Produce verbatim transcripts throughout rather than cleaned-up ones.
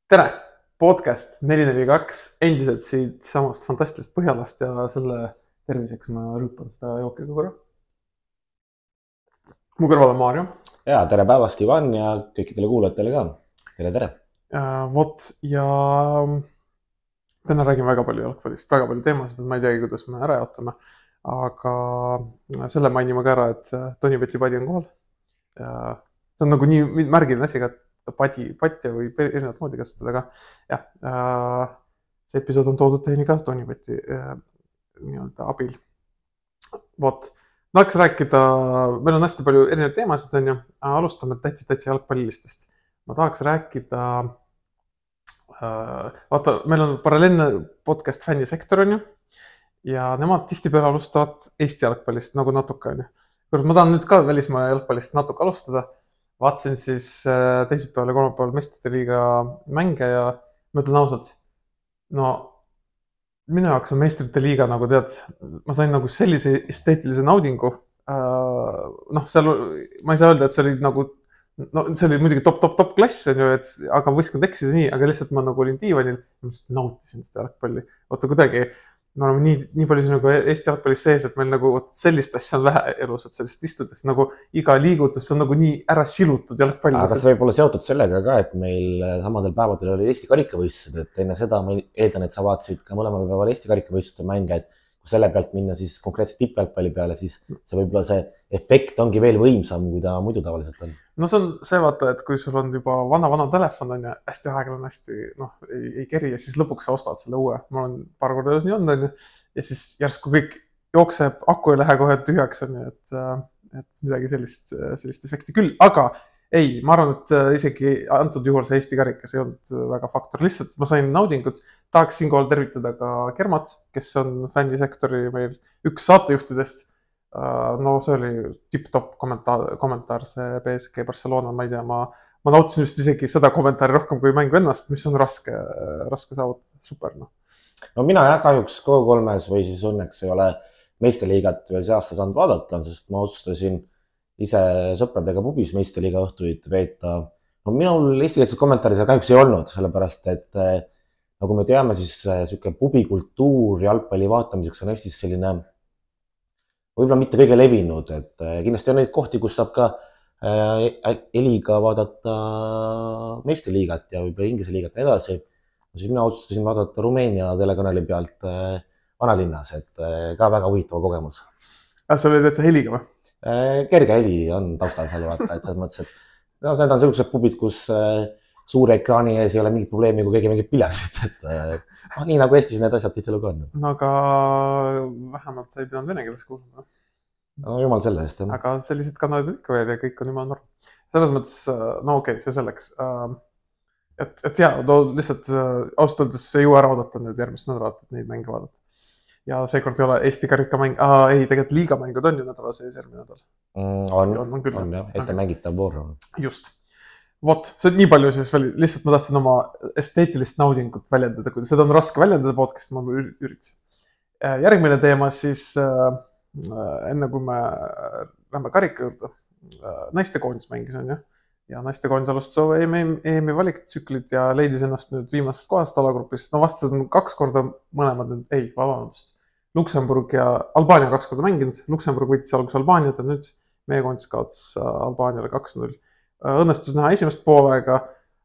Tere! Podcast neli neli kaks endiselt siit samast fantastilist Põhjalast ja selle terviseks ma rüüpan seda jooki ka korra. Mu kõrval on Maarjo. Ja, tere päevast Ivan ja kõikidele kuulajatele ka. Tere, tere. Ja, vot, ja täna räägin väga palju jalgpallist, väga palju teemasid, ma ei teagi, kuidas me ära jaotame, aga selle mainime ka ära, et Toni Peti-Padi on kohal. Ja see on nagu nii märgiline asi ka, et padi, patja või erinevat moodi kasutada, aga jah, see episood on toodud teieni ka Toni Peti nii-öelda abil. Vot, ma tahaks rääkida, meil on hästi palju erinevaid teemasid, on ju, alustame täitsa täitsa jalgpallilistest. Ma tahaks rääkida, vaata, meil on paralleelne podcast fännisektor, on ju, ja nemad tihtipeale alustavad Eesti jalgpallist nagu natuke, on ju. Kuid ma tahan nüüd ka välismaa jalgpallist natuke alustada. Vaatsin siis teisipäeval ja kolmapäeval Meistrite liiga mänge ja ma ütlen ausalt, no minu jaoks on Meistrite liiga nagu tead, ma sain nagu sellise esteetilise naudingu. Noh, seal ma ei saa öelda, et see oli nagu, no see oli muidugi top, top, top klass, on ju, et, aga võistkond eksida nii, aga lihtsalt ma nagu olin diivanil ja ma nautisin seda jalgpalli. Oota, kuidagi, me oleme nii, nii palju nagu Eesti jalgpallis sees, et meil nagu sellist asja on vähe elus, et sellist istudes nagu iga liigutus on nagu nii ära silutud jalgpallis. Aga see võib olla seotud sellega ka, et meil samadel päevadel oli Eesti karikavõistlused, et enne seda ma eeldan, et sa vaatasid ka mõlemal päeval Eesti karikavõistluste mänge, et kui selle pealt minna siis konkreetselt tippjalgpalli peale, siis see võib-olla see efekt ongi veel võimsam, kui ta muidu tavaliselt on. No see on see vaata, et kui sul on juba vana-vana telefon on ja hästi aeglan hästi noh, ei, ei keri ja siis lõpuks sa ostad selle uue. Ma olen paar korda nii on, on ja siis järsku kõik jookseb, aku ei lähe kohe tühjaks on, et, et midagi sellist, sellist efekti küll, aga ei, ma arvan, et isegi antud juhul see Eesti karikas ei olnud väga faktor, lihtsalt ma sain naudingut, tahaks siinkohal tervitada ka Kermat, kes on fännisektori meil üks saatejuhtidest. No see oli tip-top kommentaar, kommentaar see P S G Barcelona, ma ei tea, ma, ma nautisin vist isegi seda kommentaari rohkem kui mängu ennast, mis on raske, raske saavutada, super. No. no mina jah, kahjuks K kolmes või siis õnneks ei ole Meistriliigat veel see aasta saanud vaadata, sest ma otsustasin ise sõpradega pubis Meistriliiga õhtuid veeta. No minul eestikeelset kommentaari seal kahjuks ei olnud, sellepärast et nagu me teame, siis siuke pubikultuur jalgpalli vaatamiseks on Eestis selline võib-olla mitte kõige levinud, et kindlasti on neid kohti, kus saab ka heliga vaadata Meistriliigat ja võib-olla Inglise liigat ja edasi. Siis mina otsustasin vaadata Rumeenia telekanali pealt vanalinnas, et ka väga huvitava kogemus. Ah, see oli täitsa heliga või? Kerge heli on taustal seal vaata, et selles mõttes, et no, need on sellised pubid, kus suure ekraani ees ei ole mingit probleemi, kui keegi mingit piletit, et no, nii nagu Eestis need asjad tihtilugu on. No aga vähemalt sa ei pidanud vene keeles kuulama. No jumal selle eest, jah. Aga sellised kanalid ikka veel ja kõik on jumal norm. Selles mõttes, no okei, okay, see selleks. Et, et jah, no lihtsalt ausalt öeldes ei jõua ära oodata nüüd järgmist nädalat, et neid mänge vaadata. Ja seekord ei ole Eesti karikamäng, aa ei, tegelikult liigamängud on ju nädala sees järgmine nädal. Mm, on, on, on, on jah, ette mängitav voor. Just. Vot, see on nii palju siis veel, lihtsalt ma tahtsin oma esteetilist naudingut väljendada, kui seda on raske väljendada podcast'i, ma üritasin. Järgmine teema siis, enne kui me lähme karika juurde, naistekoondis mängis on ju, ja naistekoondis alustas E M-i valiktsüklid ja leidis ennast nüüd viimasest kohast alagrupis, no vastased on kaks korda mõlemad nüüd, ei, vabandust, Luksemburg ja Albaania kaks korda mänginud, Luksemburg võitis algus Albaaniat ja nüüd meie koondis kaotas Albaaniale kaks null. Õnnestus näha esimest poolega,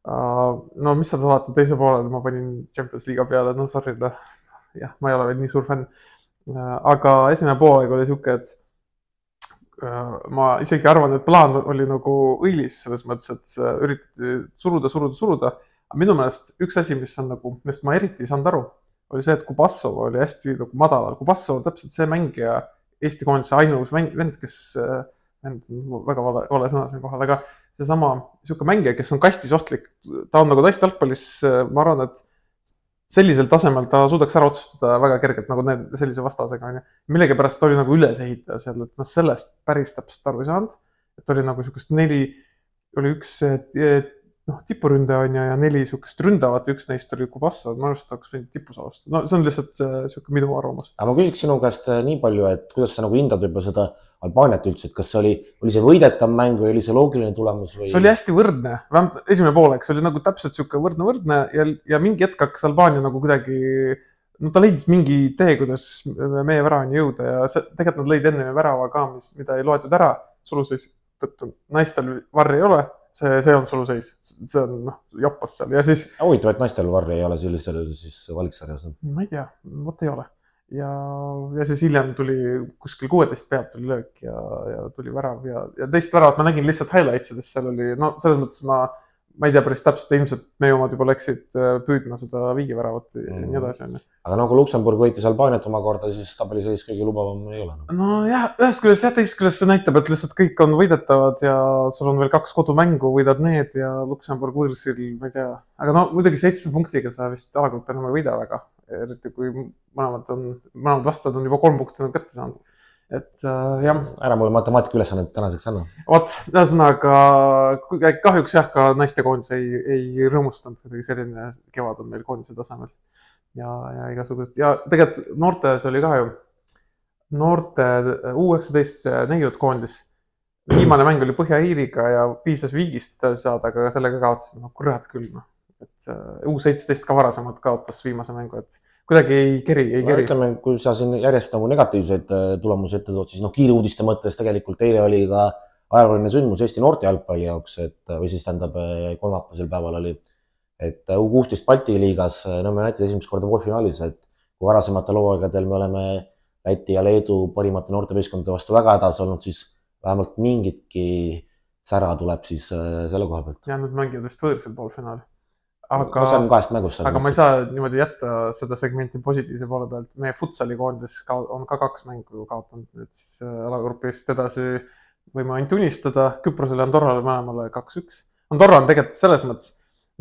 no mis seal salata teise poolel, ma panin Champions Liiga peale, no sorry, jah, ma ei ole veel nii suur fänn, aga esimene poolega oli siuke, et ma isegi arvan, et plaan oli nagu õilis selles mõttes, et üritati suruda, suruda, suruda, aga minu meelest üks asi, mis on nagu, millest ma eriti ei saanud aru, oli see, et Kubassov oli hästi nagu madalal, Kubassov on täpselt see mängija Eesti koondise ainus vend, kes vend on väga vale, vale sõna siin kohal, aga see sama siuke mängija, kes on kastis ohtlik, ta on nagu naiste jalgpallis, ma arvan, et sellisel tasemel ta suudaks ära otsustada väga kergelt, nagu need sellise vastasega on. Millegi pärast ta oli nagu üles ehitaja seal, et ma sellest päris täpselt aru ei saanud, et oli nagu siukest neli, oli üks noh, tipuründaja on ja, ja neli siukest ründavat ja üks neist oli Kubassov, ma arvast oleks võinud tipus alustada. No see on lihtsalt siuke minu arvamus. Aga ma küsiks sinu käest nii palju, et kuidas sa nagu hindad võib-olla seda Albaaniat üldse, et kas see oli, oli see võidetav mäng või oli see loogiline tulemus või? See oli hästi võrdne, vähemalt esimene poolek, see oli nagu täpselt siuke võrdne võrdne ja, ja mingi hetk hakkas Albaania nagu kuidagi, no ta leidis mingi tee, kuidas meie väravani jõuda ja see, tegelikult nad lõid enne värava ka, mis, mida ei loetud ära, suluseis, tõttu naistel varri ei ole, see, see on suluseis, see on noh, joppas seal ja siis. Huvitav, et naistel varri ei ole sellistel siis valiksarjas. Ma ei tea, vot ei ole. Ja, ja siis hiljem tuli kuskil kuueteist pealt tuli löök ja, ja tuli värav ja, ja teist väravat ma nägin lihtsalt highlightsidest, seal oli, no selles mõttes ma, ma ei tea päris täpselt, ilmselt meie omad juba läksid püüdma seda viigiväravat mm. ja nii edasi on. Aga nagu Luksemburg võitis Albaaniat omakorda, siis tabelisõis kõige lubavam ei ole. No jah, ühest küljest jah, teisest küljest see näitab, et lihtsalt kõik on võidetavad ja sul on veel kaks kodumängu, võidad need ja Luksemburg võõrsil, ma ei tea, aga no muidugi seitsme punktiga sa vist alagrupp enam ei võida väga. Eriti kui mõlemad on, mõlemad vastad on juba kolm punkti nad kätte saanud. Et äh, jah. Ära mulle matemaatika ülesannet tänaseks anna. Vot, ühesõnaga kahjuks jah, ka naiste koondis ei, ei rõõmustanud, kuidagi selline kevad on meil koondise tasemel. Ja, ja igasugust. Ja tegelikult noortes oli ka ju noorte U üheksateist neiud koondis. Viimane mäng oli Põhja-Iiriga ja piisas viigist saada, aga sellega kaotasime. No kurat küll. No. Et U seitseteist ka varasemalt kaotas viimase mängu, et kuidagi ei keri, ei keri. Ütleme, kui sa siin järjest nagu negatiivseid tulemusi ette tood, siis noh, kiire uudiste mõttes tegelikult eile oli ka ajalooline sündmus Eesti noorte jalgpalli jaoks, et, või siis tähendab kolmapäevasel päeval oli, et U kuusteist Balti liigas Nõmme United esimest korda poolfinaalis, et kui varasematel hooaegadel me oleme Läti ja Leedu parimate noortevõistkondade vastu väga hädas olnud, siis vähemalt mingitki sära tuleb siis selle koha pealt. Ja nüüd mängivad vist võõrsil poolfinaali. Aga, mängust, aga ma ei saa niimoodi jätta seda segmenti positiivse poole pealt. Meie futsali koondis on ka kaks mängu kaotanud nüüd siis alagrupist edasi võime ainult unistada. Küprosele ja Andorrale mõlemale kaks üks. Andorra on tegelikult selles mõttes,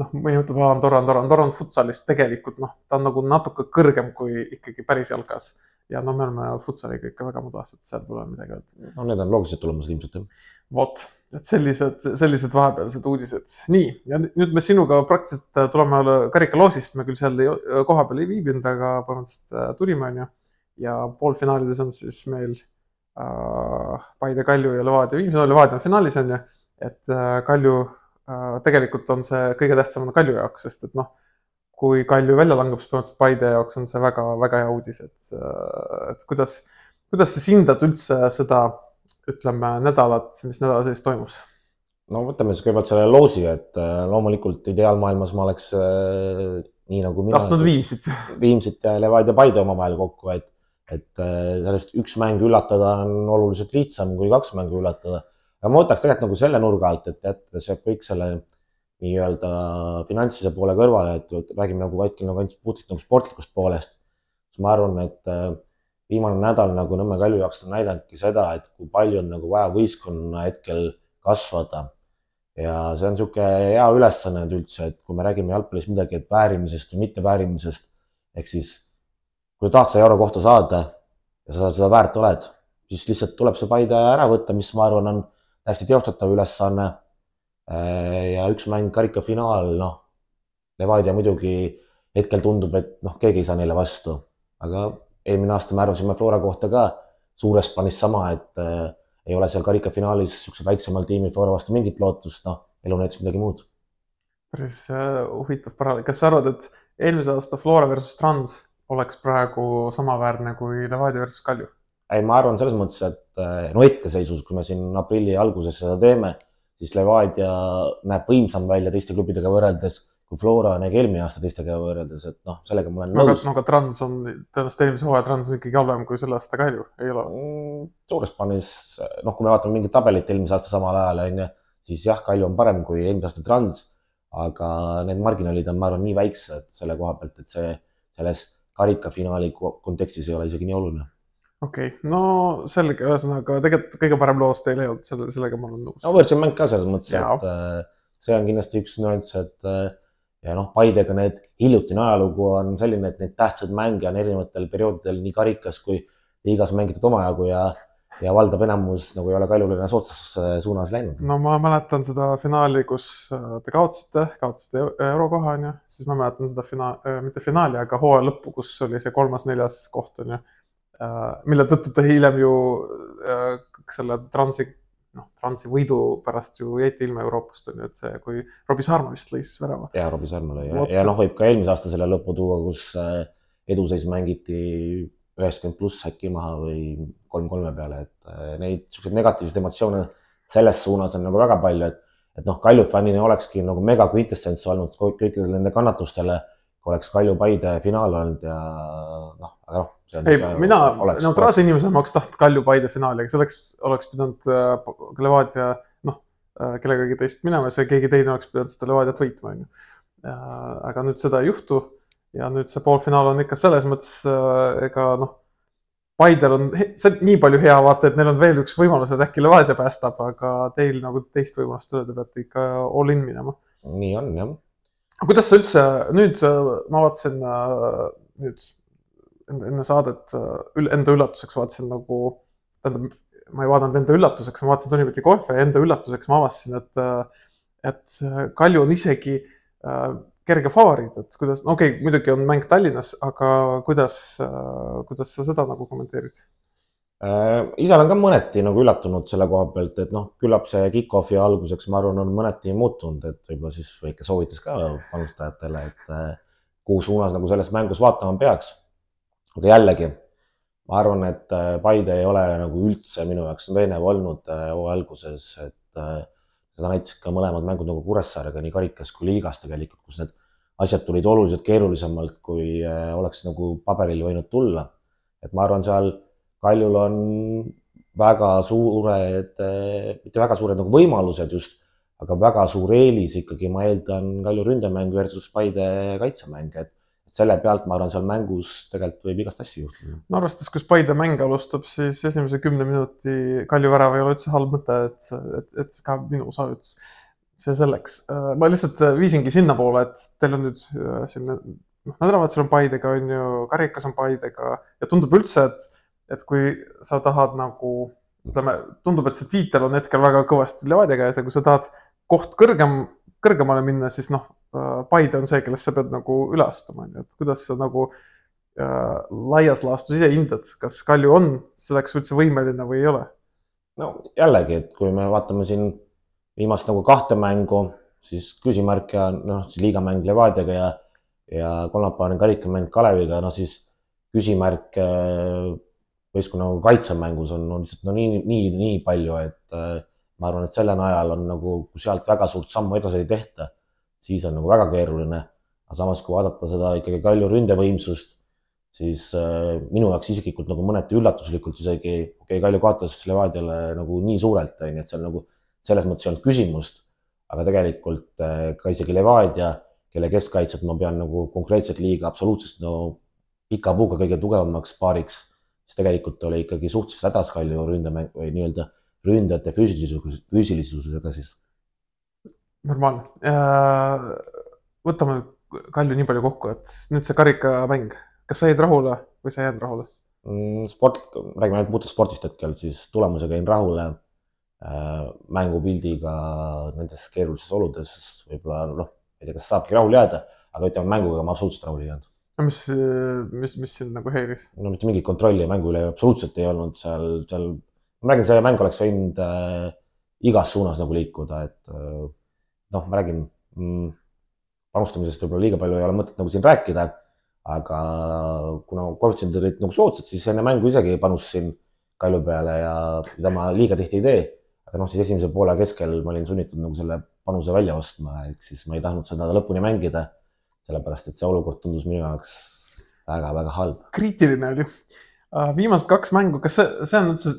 noh, mõni ütleb, et Andorra, Andorra, Andorra on futsalist tegelikult, noh, ta on nagu natuke kõrgem kui ikkagi päris jalkas. Ja no me oleme futsaliga ikka väga mudas, et seal pole midagi öelda. No need on loogilised tulemused ilmselt. Vot, et sellised, sellised vahepealsed uudised. Nii, ja nüüd me sinuga praktiliselt tuleme karikaloosist, me küll seal koha peal ei viibinud, aga põhimõtteliselt tulime on ju. Ja poolfinaalides on siis meil äh, Paide, Kalju ja Levadia viimse, no Levadia on finaalis on ju, et äh, Kalju äh, tegelikult on see kõige tähtsam on Kalju jaoks, sest et noh, kui Kalju välja langeb, siis põhimõtteliselt Paide jaoks on see väga, väga hea uudis, et, et kuidas, kuidas sa hindad üldse seda ütleme nädalat, mis nädala sees toimus? No võtame siis kõigepealt selle loosi, et loomulikult ideaalmaailmas ma oleks äh, nii nagu mina. Tahtnud Viimsit. Viimsit ja Levadia Paide omavahel kokku, et, et sellest üks mäng üllatada on oluliselt lihtsam kui kaks mängu üllatada. Aga ma võtaks tegelikult nagu selle nurga alt, et jättes kõik selle nii-öelda finantsilise poole kõrvale, et räägime nagu vaikil nagu ainult puhtalt nagu sportlikust poolest. Siis ma arvan, et viimane nädal nagu Nõmme Kalju jaoks on näidanudki seda, et kui palju on nagu vaja võistkonna hetkel kasvada. Ja see on niisugune hea ülesanne üldse, et kui me räägime jalgpallis midagi, et väärimisest või mitte väärimisest, ehk siis kui tahad sa euro kohta saada ja sa seda väärt oled, siis lihtsalt tuleb see Paide ära võtta, mis ma arvan on hästi teostatav ülesanne. Ja üks mäng karikafinaal, noh, Levadia muidugi hetkel tundub, et noh, keegi ei saa neile vastu, aga eelmine aasta me arvasime Flora kohta ka suures plaanis sama, et äh, ei ole seal karikafinaalis niisugused väiksemal tiimil Flora vastu mingit lootust, noh, elu näitas midagi muud. Päris äh, huvitav paralleel. Kas sa arvad, et eelmise aasta Flora versus Trans oleks praegu samaväärne kui Levadia versus Kalju? Ei, ma arvan selles mõttes, et äh, no hetkeseisus, kui me siin aprilli alguses seda teeme, siis Levadia näeb võimsam välja teiste klubidega võrreldes, kui Flora näegi eelmine aasta teistega võrreldes, et noh, sellega ma olen nõus. No aga Trans on, tõenäoliselt eelmise hooaja Trans on ikkagi halvem kui selle aasta Kalju, ei ole? Mm, suures plaanis, noh, kui me vaatame mingit tabelit eelmise aasta samal ajal, on, siis jah, Kalju on parem kui eelmise aasta Trans, aga need marginaalid on, ma arvan, nii väiksed selle koha pealt, et see selles karikafinaali kontekstis ei ole isegi nii oluline. Okei, okay. No selge, ühesõnaga tegelikult kõige parem loost ei leinud, selle, sellega ma olen nõus. No võrdsin mäng ka selles mõttes, et see on kindlasti üks nüanss, et ja noh, Paidega need hiljutine ajalugu on selline, et need tähtsad mänge on erinevatel perioodidel nii karikas kui liigas mängitud omajagu ja, ja valdav enamus nagu ei ole Kaljulina sootsas suunas läinud. No ma mäletan seda finaali, kus te kaotasite, kaotasite eurokoha, on ju, siis ma mäletan seda finaali, mitte finaali, aga hooaja lõppu, kus oli see kolmas, neljas koht, on ju. mille tõttu ta hiljem ju selle transi, noh, transi võidu pärast ju jäeti ilma Euroopast, on ju, et see, kui Robbie Sarma vist lõi siis värava. Ja, Robbie Sarma lõi. Ja, ja noh, võib ka eelmise aasta selle lõpu tuua, kus eduseis mängiti üheksakümmend pluss äkki maha või kolm kolme peale, et neid selliseid negatiivseid emotsioone selles suunas on nagu väga palju, et, et noh, Kalju fännini olekski nagu mega quintessence olnud kõikidele nende kannatustele, kui oleks Kalju Paide finaal olnud ja noh, aga noh. Ei, mina neutraalse inimesena ma oleks tahtnud Kalju Paide finaali, aga selleks oleks pidanud Levadia, noh, kellegagi teist minema, see keegi teine oleks pidanud seda Levadiat võitma. Aga nüüd seda ei juhtu ja nüüd see poolfinaal on ikka selles mõttes, ega noh, Paidel on see nii palju hea vaata, et neil on veel üks võimalus, et äkki Levadia päästab, aga teil nagu teist võimalust üle, te peate ikka all in minema. Nii on, jah. Kuidas sa üldse, nüüd ma vaatasin nüüd enne saadet enda üllatuseks vaatasin nagu, tähendab, ma ei vaadanud enda üllatuseks, ma vaatasin Tonibeti kohve ja enda üllatuseks ma avastasin, et, et Kalju on isegi kerge favoriit, et kuidas, no okei, okay, muidugi on mäng Tallinnas, aga kuidas, kuidas sa seda nagu kommenteerid? Ise olen ka mõneti nagu üllatunud selle koha pealt, et noh, küllap see kick-offi alguseks, ma arvan, on mõneti muutunud, et võib-olla siis väike soovitus ka panustajatele, et kuhu suunas nagu selles mängus vaatama peaks. Aga jällegi, ma arvan, et Paide ei ole nagu üldse minu jaoks veenev olnud hooaja alguses, et seda näiteks ka mõlemad mängud nagu Kuressaarega, nii karikas kui liigas tegelikult, kus need asjad tulid oluliselt keerulisemalt, kui oleks nagu paberil võinud tulla. Et ma arvan, seal Kaljul on väga suured, mitte väga suured nagu võimalused just, aga väga suur eelis ikkagi, ma eeldan Kalju ründemäng versus Paide kaitsemäng, et selle pealt ma arvan, seal mängus tegelikult võib igast asja juhtuda. No arvestades, kus Paide mäng alustab, siis esimese kümne minuti Kalju värav ei ole üldse halb mõte, et, et, et ka minu saavutus see selleks. Ma lihtsalt viisingi sinna poole, et teil on nüüd siin, noh, nädalavahetusel on Paidega, on ju, karikas on Paidega ja tundub üldse, et, et kui sa tahad nagu, ütleme, tundub, et see tiitel on hetkel väga kõvasti Levadiaga ja see, kui sa tahad koht kõrgem, kõrgemale minna, siis noh, Paide on see, kellest sa pead nagu üle astuma, et kuidas sa nagu äh, laias laastus ise hindad, kas Kalju on selleks üldse võimeline või ei ole? No jällegi, et kui me vaatame siin viimast nagu kahte mängu, siis küsimärk ja noh, siis liigamäng Levadiaga ja, ja kolmapäevane karikamäng Kaleviga, no siis küsimärk võistkonna nagu kaitsemängus on, on lihtsalt no nii, nii, nii palju, et äh, ma arvan, et selle najal on nagu, kui sealt väga suurt sammu edasi ei tehta, siis on nagu väga keeruline. Aga samas, kui vaadata seda ikkagi Kalju ründevõimsust, siis äh, minu jaoks isiklikult nagu mõneti üllatuslikult isegi, okei, Kalju kaotas Levadiale nagu nii suurelt, nii et seal nagu selles mõttes ei olnud küsimust, aga tegelikult äh, ka isegi Levadia, kelle keskkaitset ma pean nagu konkreetselt liiga absoluutsest no pika puuga kõige tugevamaks paariks, siis tegelikult oli ikkagi suhteliselt hädas Kalju ründemäng või nii-öelda ründajate füüsilisusega siis. Normaalne. Võtame Kalju nii palju kokku, et nüüd see karikamäng, kas sa jäid rahule või sa jääd rahule? Sport, räägime ainult puhtalt spordist hetkel, siis tulemusega jäin rahule mängupildiga nendes keerulises oludes, võib-olla noh, ei tea, kas saabki rahule jääda, aga ütleme mänguga ma absoluutselt rahule ei jäänud. No mis, mis, mis siin nagu heiris? No mitte mingit kontrolli mängu üle absoluutselt ei olnud seal, seal ma räägin, see mäng oleks võinud äh, igas suunas nagu liikuda, et äh, noh, ma räägin, mm, panustamisest võib-olla liiga palju ei ole mõtet nagu siin rääkida, aga kuna koefitsendid olid nagu soodsad, siis enne mängu isegi panustasin Kalju peale ja mida ma liiga tihti ei tee, aga noh, siis esimese poole keskel ma olin sunnitud nagu selle panuse välja ostma, ehk siis ma ei tahtnud seda lõpuni mängida, sellepärast et see olukord tundus minu jaoks väga-väga halb. Kriitiline oli. Viimast kaks mängu, kas see, see on üldse,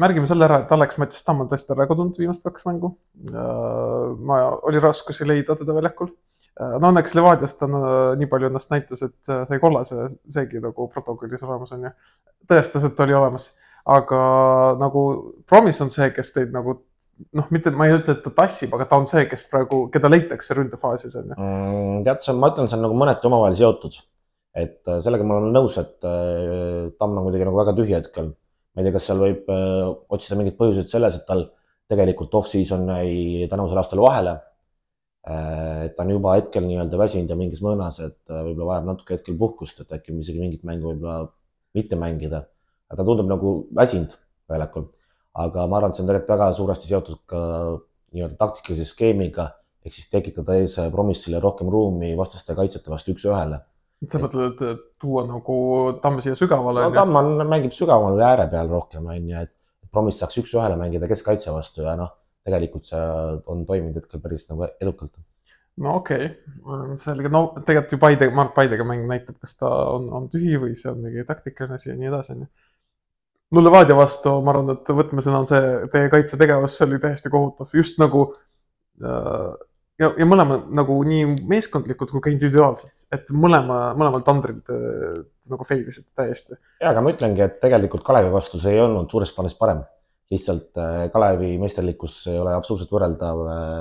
märgime selle ära, et Alex Mattis Tamm on tõesti ära kodunud viimast kaks mängu. Ma oli raskusi leida teda väljakul. No õnneks Levadiast on nii palju ennast näitas, et sai kollase, seegi nagu protokollis olemas on ja tõestas, et oli olemas. Aga nagu Promis on see, kes teid nagu, noh, mitte ma ei ütle, et ta tassib, aga ta on see, kes praegu, keda leitakse ründefaasis on. Mm, tead, ma ütlen, see on nagu mõneti omavahel seotud. Et sellega ma olen nõus, et Tamm on kuidagi nagu väga tühi hetkel. Ma ei tea, kas seal võib otsida mingid põhjused selles, et tal tegelikult off-season jäi tänavusel aastal vahele. Et ta on juba hetkel nii-öelda väsinud ja mingis mõõnas, et võib-olla vajab natuke hetkel puhkust, et äkki isegi mingit mängu võib-olla mitte mängida. ta tundub nagu väsinud väljakul, aga ma arvan, et see on tegelikult väga suuresti seotud ka nii-öelda taktikalise skeemiga, ehk siis tekitada ees Promissile rohkem ruumi vastaste kaitsjate vastu üks ühele. sa mõtled, et tuua nagu Tamm siia sügavale? No Tamm on, mängib sügaval või ääre peal rohkem, on ju, et Promiss saaks üks ühele mängida keskkaitse vastu ja noh, tegelikult see on toiminud hetkel päris nagu edukalt. No okei, okay. Selge, no tegelikult ju Paide, Mart Paidega mäng näitab, kas ta on, on tühi või see on mingi taktikaline asi ja nii edasi. No Levadia vastu, ma arvan, et võtmesõna on see, teie kaitsetegevus, see oli täiesti kohutav, just nagu äh, ja, ja mõlema nagu nii meeskondlikud kui ka individuaalselt, et mõlema, mõlemal tandril te, te nagu failisid täiesti. Ja, aga ma ütlengi, et tegelikult Kalevi vastu see ei olnud suures plaanis parem. Lihtsalt Kalevi meisterlikkus ei ole absoluutselt võrreldav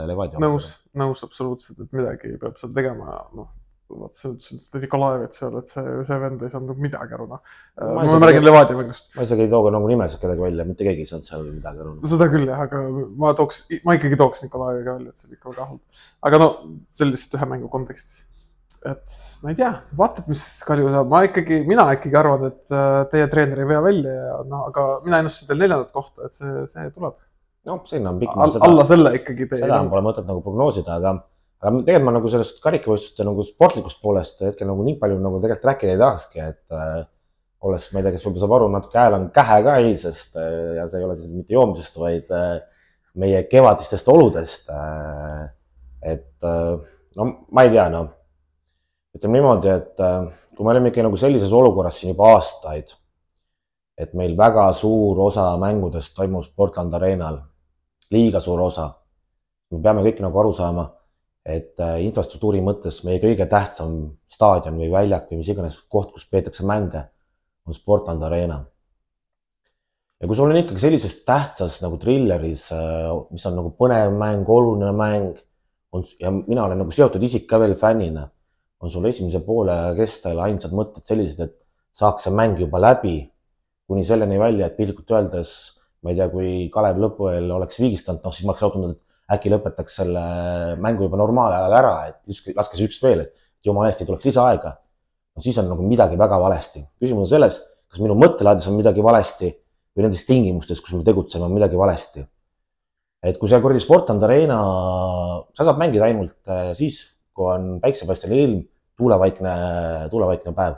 Levadia. Nõus, nõus absoluutselt, et midagi peab seal tegema. No, vaat see ütles, et Nikolaevit seal, et see, see vend ei saanud midagi aru. No. Ma, ma räägin Levadia mängust. Ma isegi ei tooga nagu nimesid kedagi välja, mitte keegi ei saanud seal midagi aru. Seda küll jah, aga ma, tooks, ma ikkagi tooks Nikolaeviga välja, et see oli ikka väga halb. Aga no, see oli lihtsalt ühe mängu kontekstis. Et ma ei tea, vaatab, mis Kalju saab. Ma ikkagi, mina ikkagi arvan, et teie treener ei vea välja, ja, no, aga mina ennustasin teil neljandat kohta, et see, see tuleb. No, sinna on pikk. All, alla selle ikkagi teie. Seda on pole mõtet nagu prognoosida, aga, aga tegelikult ma nagu sellest karikavõistluste nagu sportlikust poolest hetkel nagu nii palju nagu tegelikult rääkida ei tahakski, et äh, olles, ma ei tea, kes võib saab aru, natuke hääl on kähe ka eilsest äh, ja see ei ole siis mitte joomisest, vaid äh, meie kevadistest oludest. Äh, et äh, no ma ei tea, no ütleme niimoodi, et kui me oleme ikka nagu sellises olukorras siin juba aastaid, et meil väga suur osa mängudest toimub Sportland Arenal, liiga suur osa, me peame kõik nagu aru saama, et infrastruktuuri mõttes meie kõige tähtsam staadion või väljak või mis iganes koht, kus peetakse mänge, on Sportland Arena. Ja kui sul on ikkagi sellises tähtsas nagu trilleris, mis on nagu põnev mäng, oluline mäng, on, ja mina olen nagu seotud isik ka veel fännina, on sul esimese poole kestel ainsad mõtted sellised, et saaks see mäng juba läbi, kuni selleni välja, et pilkult öeldes, ma ei tea, kui Kalev lõpuel oleks viigistanud, noh siis ma oleks raudnud, et äkki lõpetaks selle mängu juba normaalajal ära, et laskes üks veel, et jumala eest ei tuleks lisaaega. No siis on nagu midagi väga valesti. Küsimus on selles, kas minu mõttelaadis on midagi valesti või nendes tingimustes, kus me tegutseme, on midagi valesti. Et kui see kordi Sportland Arena, sa saab mängida ainult siis, kui on päiksepaistele ilm, tuulevaikne, tuulevaikne päev.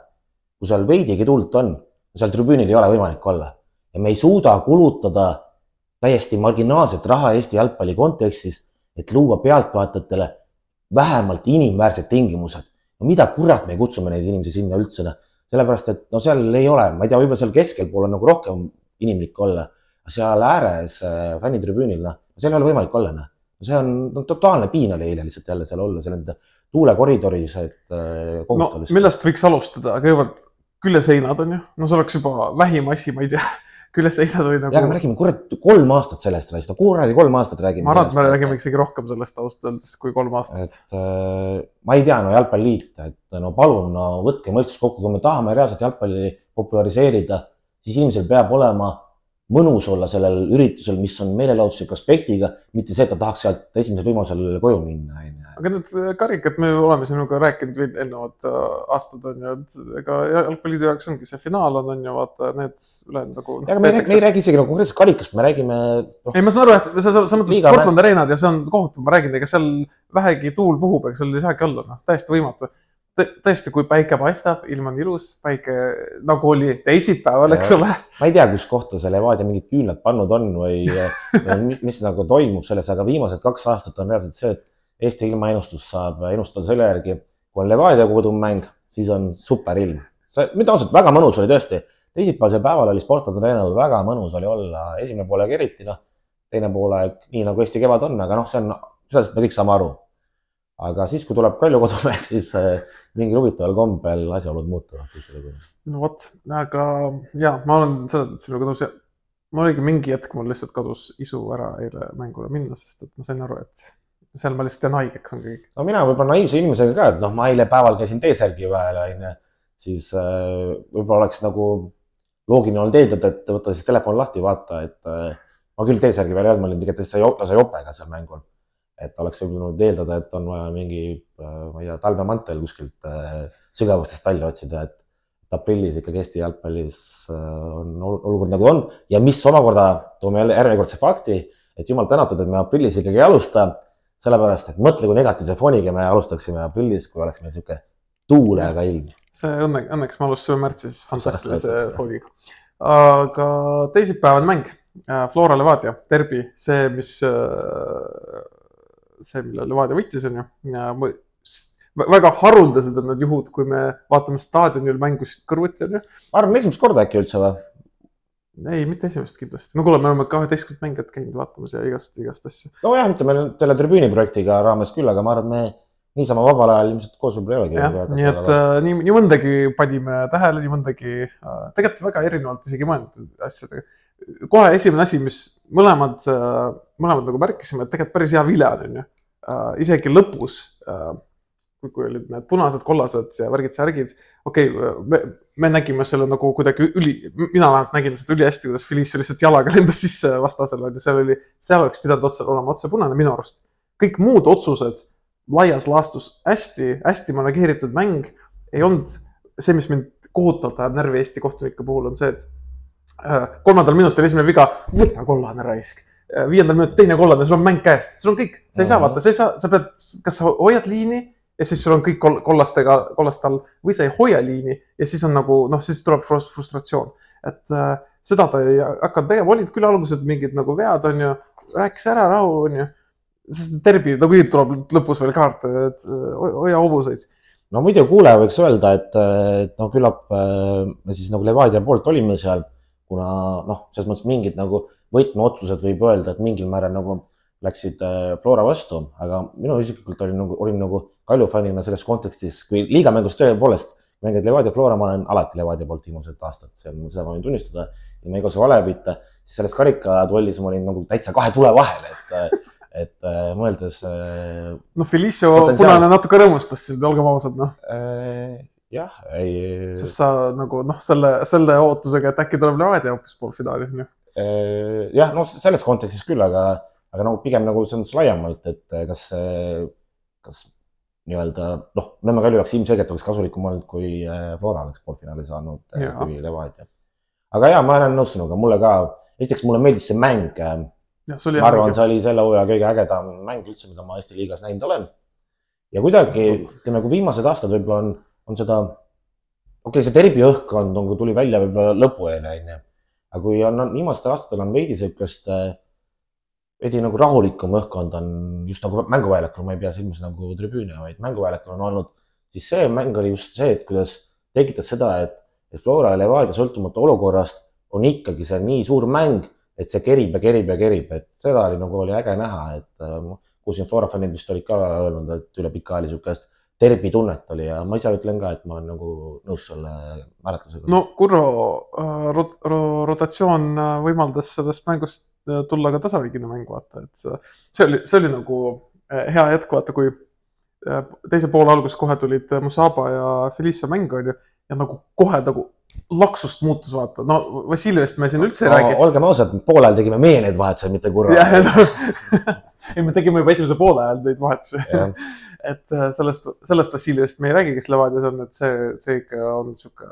Kui seal veidigi tuult on, seal tribüünil ei ole võimalik olla. Ja me ei suuda kulutada täiesti marginaalset raha Eesti jalgpalli kontekstis, et luua pealtvaatajatele vähemalt inimväärsed tingimused. No mida kurat me kutsume neid inimesi sinna üldse? Sellepärast, et no seal ei ole, ma ei tea, võib-olla seal keskel pool on nagu rohkem inimlik olla. Seal ääres fännitribüünil, no, seal ei ole võimalik olla. No. See on no, totaalne piin oli eile lihtsalt jälle seal olla, seal nende tuulekoridoris, et kohutavist. No, millest võiks alustada? Kõigepealt külleseinad on ju, no see oleks juba vähim asi, ma ei tea, külleseinad või nagu... Ja, me räägime kurat kolm aastat sellest, no kuradi kolm aastat räägime. Ma arvan, et me räägime isegi rohkem sellest austaldes kui kolm aastat. Et äh, ma ei tea, no jalgpalliliit, et no palun, no võtke mõistus kokku, kui me tahame reaalselt jalgpalli populariseerida, siis inimesel peab olema mõnus olla sellel üritusel, mis on meelelaudusliku aspektiga, mitte see, et ta tahaks sealt esimesel võimalusel koju minna. Aga need karikad, me oleme sinuga rääkinud eelnevad aastad, on ju, et ega jalgpalliliidu jaoks ongi see finaal on, on ju, vaata, need ülejäänud nagu... Ja, me, me ei räägi isegi nagu konkreetselt karikast, me räägime... No, ei, ma saan aru, et sa, sa, sa mõtled Sportland Arenad ja see on kohutav, ma räägin, ega seal vähegi tuul puhub, ega seal ei saagi olla, no, täiesti võimatu. Tõesti, kui päike paistab, ilm on ilus, päike nagu oli teisipäeval, eks ole. Ma ei tea, kus kohta see Levadia mingid küünlad pannud on või mis, mis nagu toimub selles, aga viimased kaks aastat on reaalselt see, et Eesti ilmaennustus saab ennustada selle järgi, kui on Levadia kodumäng, siis on super ilm. See, mida ausalt, väga mõnus oli tõesti. Teisipäevasel päeval oli Sportland Arenal väga mõnus oli olla esimene poolega eriti, noh, teine poolega nii nagu Eesti kevad on, aga noh, see on, sellest me kõik saame aru. Aga siis, kui tuleb Kalju kodumäng, siis mingi huvitaval kombel asjaolud muutuvad. No vot, aga ja, ma olen sinuga nõus ja ma oligi mingi hetk, mul lihtsalt kadus isu ära eile mängule minna, sest et ma sain aru, et seal ma lihtsalt teen haigeks on kõik. No mina võib-olla naiivse inimesega ka, et noh, ma eile päeval käisin T-särgi vahel, siis võib-olla oleks nagu loogiline olnud eeldada, et võtta siis telefon lahti, vaata, et ma küll T-särgi veel ei olnud, ma olin tegelikult täitsa jopega seal mängul. Et oleks võib-olla eeldada, et on vaja mingi, ma ei tea, talvemantel kuskilt sügavustest välja otsida, et aprillis ikkagi Eesti jalgpallis on olukord nagu on ja mis omakorda toome jälle järjekordse fakti, et jumal tänatud, et me aprillis ikkagi ei alusta, sellepärast, et mõtle, kui negatiivse foniga me alustaksime aprillis, kui oleks meil siuke tuulega ilm. See õnne, õnneks me alustasime märtsis fantastilise foniga. Aga teisipäevane mäng, Flora Levadia, derbi, see, mis, see, mille Levadia võitis on ju. Ja väga haruldased on need juhud, kui me vaatame staadionil mängusid kõrvuti on ju. Arvan, esimest korda äkki üldse või? Ei, mitte esimest kindlasti. No kuule, me oleme kaheteistkümnend mängijat käinud vaatamas ja igast, igast asju. No jah, mitte meil teile tribüüni projektiga raames küll, aga ma arvan, me niisama vabal ajal ilmselt koos võib-olla ei olegi. Ja, nii et äh, nii, nii mõndagi panime tähele, nii mõndagi äh, tegelikult väga erinevalt isegi mõeldud asjadega. Kohe esimene asi, mis mõlemad, äh, mõlemad nagu märkisime, et tegelikult päris hea vile on ju. Äh, isegi lõpus äh, kui olid need punased, kollased ja värgid, särgid. Okei, okay, me, me nägime selle nagu kuidagi üli, mina vähemalt nägin seda üli hästi, kuidas Felicio lihtsalt jalaga lendas sisse vastasel. Seal, oli, seal oleks pidanud otsa olema otse punane minu arust. Kõik muud otsused laias laastus hästi, hästi manageeritud mäng ei olnud see, mis mind kohutavalt ajab närvi Eesti kohtunike puhul on see, et kolmandal minutil esimene viga, võta kollane raisk. Viiendal minutil teine kollane, sul on mäng käest. Sul on kõik, sa ei saa vaata, sa, ei saa, sa pead, kas sa hoiad liini ja siis sul on kõik kollastega, kollast all või sa ei hoia liini ja siis on nagu, noh, siis tuleb frustratsioon. Et äh, seda ta ei hakanud tegema, olid küll algused mingid nagu vead on ju, rääkis ära rahu on ju, sest terbi, nagu nüüd tuleb lõpus veel kaart, et hoia hobuseid. No muidu kuulaja võiks öelda, et, et no küllap me siis nagu Levadia poolt olime seal, kuna noh, selles mõttes mingid nagu võtmeotsused võib öelda, et mingil määral nagu läksid Flora vastu, aga minu isiklikult olin nagu, olin nagu Kalju fannina selles kontekstis, kui liigamängus töö poolest mängid Levadia Flora, ma olen alati Levadia poolt viimased aastad, seda ma võin tunnistada ja ma igas vale pita, siis selles karikatollis ma olin nagu täitsa kahe tule vahel, et, et mõeldes... No Felicio punane natuke rõõmustas sind, olgem ausad, noh. Jah, ei... Sest sa nagu, noh, selle, selle ootusega, et äkki tuleb Levadia hoopis poolfinaali, noh. Jah, no selles kontekstis küll, aga, aga nagu pigem nagu see on laiemalt, et kas, kas nii-öelda, noh, Nõmme Kalju jaoks ilmselgelt oleks kasulikum olnud, kui Flora oleks poolfinaali saanud, ja. Kui Levadia. Aga jaa, ma olen nõus sinuga, mulle ka, esiteks mulle meeldis see mäng. Ja, see ma arvan, see oli selle hooaja kõige ägedam mäng üldse, mida ma Eesti liigas näinud olen. Ja kuidagi, nagu viimased aastad võib-olla on, on seda, okei, okay, see derbi õhkkond on, kui tuli välja võib-olla lõpueele, aga kui on, viimastel aastatel on veidi sellist veidi nagu rahulikum õhkkond on just nagu mänguväljakul, ma ei pea silmis nagu tribüüne, vaid mänguväljakul on olnud, siis see mäng oli just see, et kuidas tekitas seda, et, et Flora ja Levadia sõltumata olukorrast on ikkagi see nii suur mäng, et see kerib ja kerib ja kerib, et seda oli nagu oli äge näha, et kui siin Flora fannid vist olid ka öelnud, et üle pika ajali sukest terbi tunnet oli ja ma ise ütlen ka, et ma olen nagu nõus selle määratlusega. No Kurro rot rotatsioon võimaldas sellest mängust tulla ka tasavigine mäng, vaata, et see oli, see oli nagu hea hetk, vaata, kui teise poole algus kohe tulid Musaba ja Felicio mäng, on ju, ja nagu kohe nagu laksust muutus, vaata, no Vassiljevist me siin üldse ei no, räägi. Olgem ausad, poole ajal tegime meie need vahetused, mitte Kurro. No, ei, me tegime juba esimese poole ajal neid vahetusi. Et sellest, sellest Vassiljevist me ei räägi, kes Levadias on, et see, see ikka on siuke,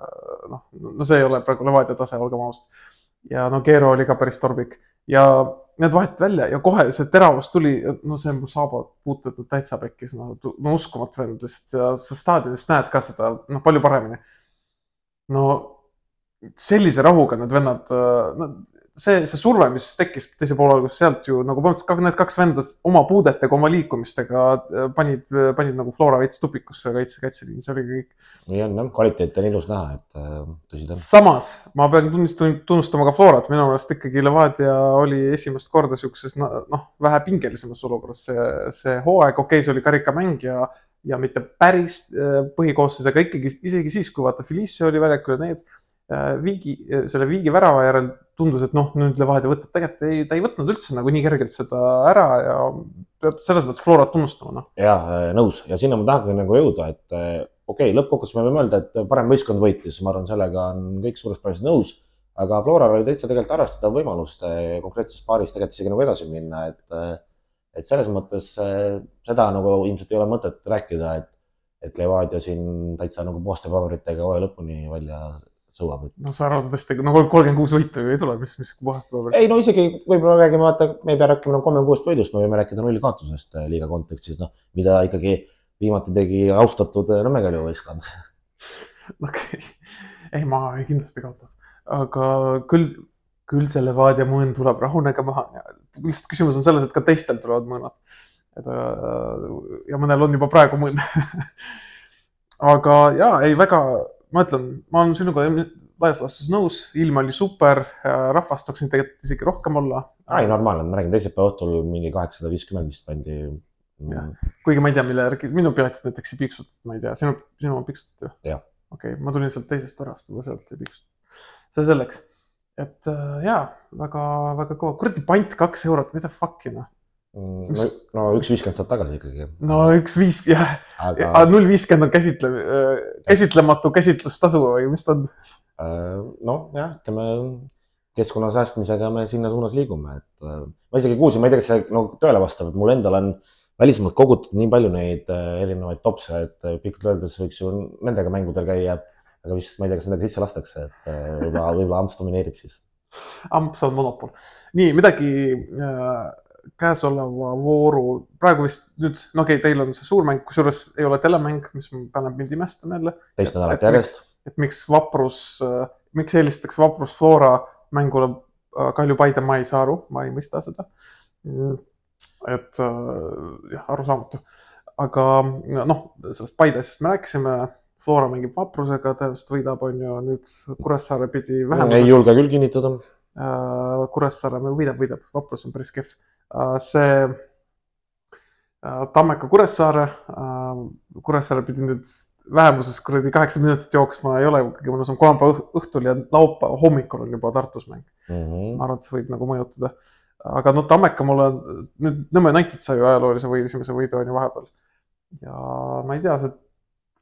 noh, no see ei ole praegu Levadia tase, olgem ausad. Ja no Keero oli ka päris torbik ja need vahet välja ja kohe see teravus tuli, no see Musaba puututud täitsa pekkis, no, no uskumat vend lihtsalt ja sa staadionist näed ka seda no, palju paremini. No sellise rahuga need vennad, no, see, see surve, mis tekkis teise poole algus sealt ju nagu põhimõtteliselt need kaks vendas oma puudetega, oma liikumistega panid, panid nagu Flora veits tupikusse kaitse, kaitseliin, see oli kõik. Nii on, jah, kvaliteet on ilus näha, et tõsi ta. Samas, ma pean tunnustama ka Florat, minu meelest ikkagi Levadia oli esimest korda siukses, noh, vähe pingelisemas olukorras. See, see hooaeg, okei, see oli karikamäng ja, ja mitte päris põhikoosses, aga ikkagi isegi siis, kui vaata Felicio oli väljakul ja need viigi, selle viigi värava järel tundus, et noh, nüüd Levadia võtab, tegelikult ei, ta ei võtnud üldse nagu nii kergelt seda ära ja peab selles mõttes Florat tunnustama. No. Jah, nõus. Ja sinna ma tahangi nagu jõuda, et okei, lõppkokkuvõttes me võime öelda, et parem võistkond võitis, ma arvan, sellega on kõik suurest päris nõus, aga Floral oli täitsa tegelikult arvestada võimalust konkreetses paaris tegelikult isegi nagu edasi minna, et, et selles mõttes seda nagu ilmselt ei ole mõtet rääkida, et, et Levadia siin täitsa nagu puhaste paberitega hooaja lõpuni välja sõuab. No sa arvad tõesti, no kolmkümmend kuus võitu ei tule, mis, mis puhast paberit? Ei, no isegi võib-olla räägime, vaata, me ei pea rääkima no kolmkümmend kuus võidust, me võime rääkida nulli kaotusest liiga kontekstis, no, mida ikkagi viimati tegi austatud Nõmme Kalju võistkond. Okei, ei ma ei kindlasti kaotanud, aga küll, küll see Levadia mõõn tuleb rahunega maha. Lihtsalt küsimus on selles, et ka teistel tulevad mõõnad. Ja mõnel on juba praegu mõõn. Aga jaa, ei väga, ma ütlen, ma olen sinuga laias laastus nõus, ilm oli super, rahvast tooksin tegelikult isegi rohkem olla. Ai, normaalne, ma räägin teisipäeva õhtul mingi kaheksasada viiskümmend vist pandi. Ja. Kuigi ma ei tea, mille järgi, minu piletid näiteks ei piksutatud, ma ei tea, sinu, sinu on piksutatud ju? Jah. Okei, okay, ma tulin sealt teisest varast, ma sealt ei piksutatud. See selleks, et jaa, väga, väga kõva. Kuradi pant kaks eurot, mida fuckina? No, no üks viiskümmend saad tagasi ikkagi. No üks viis, jah. Aga... null viiskümmend on käsitle... käsitlematu käsitlustasu või mis ta on? No jah, ütleme, keskkonna säästmisega me sinna suunas liigume. Et ma isegi kuulsin, ma ei tea, kas see no, tõele vastab, et mul endal on välismaalt kogutud nii palju neid erinevaid topse, et pikalt öeldes võiks ju nendega mängudel käia, aga vist ma ei tea, kas nendega sisse lastakse, et võib-olla, võib-olla Amps domineerib siis. Amps on monopol. Nii, midagi... käesoleva vooru, praegu vist nüüd, no okei, okay, teil on see suurmäng, kusjuures ei ole telemäng, mis paneb mind imestama jälle. Teist nädalat järjest. Et miks Vaprus, miks eelistaks Vaprus Flora mängule Kalju Paide, ma ei saa aru, ma ei mõista seda. Et jah, aru saamatu. Aga noh, sellest Paide asjast me rääkisime, Flora mängib Vaprusega, tõenäoliselt võidab on ju nüüd Kuressaare pidi vähemuses. Ei julge küll kinnitada. Kuressaare me võidab, võidab, Vaprus on päris kehv. See Tammeka Kuressaare, Kuressaare pidi nüüd vähemuses kuradi kaheksa minutit jooksma ei ole, kõige mõnus on kolmapäeva õhtul ja laupäeva hommikul on juba Tartus mäng. Mm -hmm. Ma arvan, et see võib nagu mõjutada. Aga no Tammeka mulle on, nüüd Nõmme United sai ju ajaloolise või esimese võidu on ju vahepeal. Ja ma ei tea, see,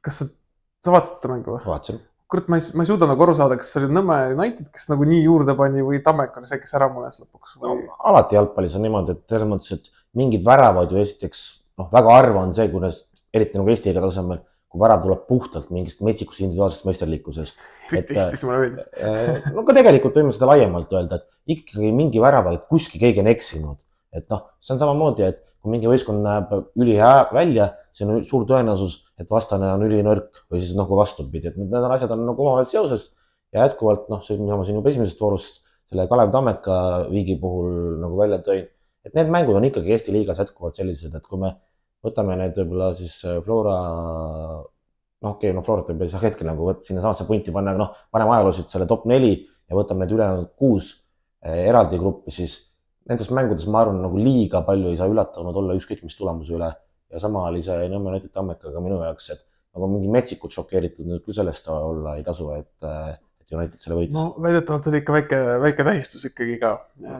kas sa, sa vaatasid seda mängu või? Vaatasin. Kurat, ma ei, ma ei suuda nagu aru saada, kas see oli Nõmme United, kes nagu nii juurde pani või Tammeka oli see, kes ära munes lõpuks. Või... No, alati jalgpallis on niimoodi, et selles mõttes, et mingid väravad ju esiteks, noh, väga harva on see, kuidas eriti nagu Eesti liiga tasemel, kui värav tuleb puhtalt mingist metsikust individuaalsest meisterlikkusest. Eestis mulle meeldis. No ka tegelikult võime seda laiemalt öelda, et ikkagi mingi värava, et kuski keegi on eksinud. Et noh, see on samamoodi, et kui mingi võistkond näeb ülihää välja, see on suur tõenäosus, et vastane on ülinõrk või siis nagu vastupidi, et need asjad on nagu omavahel seoses ja jätkuvalt, noh, see, mida ma siin juba esimesest voorust selle Kalev Tammeka viigi puhul nagu välja tõin, et need mängud on ikkagi Eesti liigas jätkuvalt sellised, et kui me võtame need võib-olla siis Flora, noh, okei, no Florat võib saa hetkel nagu võtta sinna samasse punti panna, aga noh, paneme ajaloosid selle top neli ja võtame need ülejäänud kuus eraldi gruppi, siis nendes mängudes ma arvan, nagu liiga palju ei saa üllatanud olla ükskõik mis tulemuse üle. Ja sama oli see Nõmme United Tammekaga minu jaoks, et nagu mingi metsikud šokeeritud nüüd küll sellest olla ei tasu, et, et United selle võitis. No väidetavalt oli ikka väike, väike tähistus ikkagi ka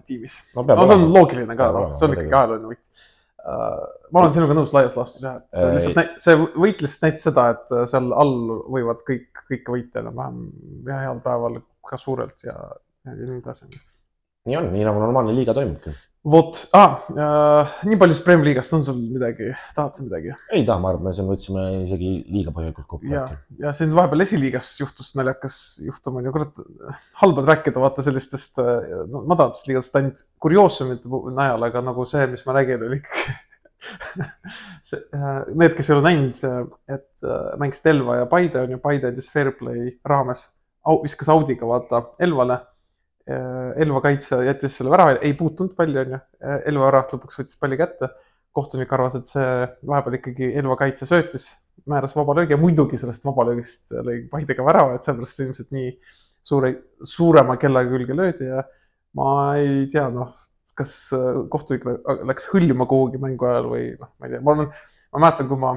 tiimis. No, no see on loogiline ka, no, see on ikkagi ajalooline võit. Ma olen sinuga nõus laias laastus jah, et see, lihtsalt, see võit lihtsalt näitas seda, et seal all võivad kõik, kõik võita enam-vähem heal päeval ka suurelt ja, ja nii edasi. Nii on, nii nagu normaalne liiga toimubki. Vot, ah, äh, nii palju Sprem liigast on sul midagi, tahad sa midagi? Ei taha, ma arvan, me siin võtsime isegi liiga põhjalikult kokku. Ja, ja siin vahepeal esiliigas juhtus naljakas juhtum on ju, kurat, halbad rääkida vaata sellistest no, madalatest liigadest ainult kurioosumite najal, aga nagu see, mis ma räägin, oli ikkagi need, kes ei ole näinud, et mängisid Elva ja Paide on ju, Paide andis Fairplay raames, viskas Audiga vaata Elvale. Elva kaitse jättis selle värava, ei puutunud palli on ju, Elva väravat lõpuks võttis palli kätte, kohtunik arvas, et see vahepeal ikkagi Elva kaitse söötis, määras vabalöögi ja muidugi sellest vabalöögist lõi Paidega värava, et sellepärast ilmselt nii suure, suurema kellaga külge löödi ja ma ei tea, noh, kas kohtunik läks hõljuma kuhugi mängu ajal või noh, ma ei tea, ma, olen, ma mäletan, kui ma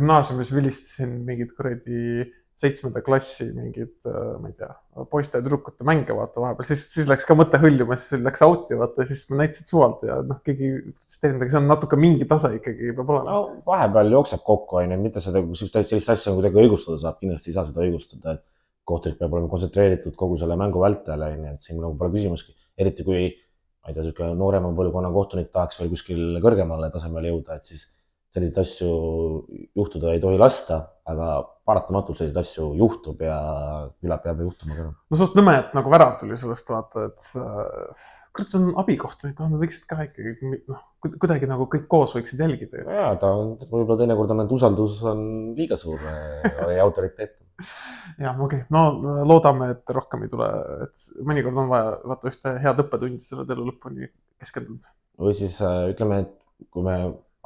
gümnaasiumis vilistasin mingid kuradi seitsmenda klassi mingid, ma ei tea, poiste ja tüdrukute mänge vaata vahepeal, siis, siis läks ka mõte hõljuma, siis läks auti vaata ja siis me näitasid suvalt ja noh, keegi protesteerinud, see on natuke mingi tase ikkagi peab olema. No vahepeal jookseb kokku, on ju, mitte seda, kui sellist asja kuidagi õigustada saab, kindlasti ei saa seda õigustada, et kohtunik peab olema kontsentreeritud kogu selle mängu vältajale, et siin nagu pole küsimuski, eriti kui, ma ei tea, noorema põlvkonna kohtunik tahaks veel kuskil kõrgemale tasemele jõuda, et siis selliseid asju juhtuda ei tohi lasta, aga paratamatult selliseid asju juhtub ja küla peab juhtuma ka. No suht nõme, et nagu värav tuli sellest vaata, et kurat, see on abikohtunik, nad võiksid ka ikkagi noh, kuidagi nagu kõik koos võiksid jälgida. Jaa, ta on võib-olla teinekord on, et usaldus on liiga suur ja autoriteet. Jah, okei, okay. No loodame, et rohkem ei tule, et mõnikord on vaja vaata ühte head õppetundi selle elu lõpuni keskendunud. Või siis ütleme, et kui me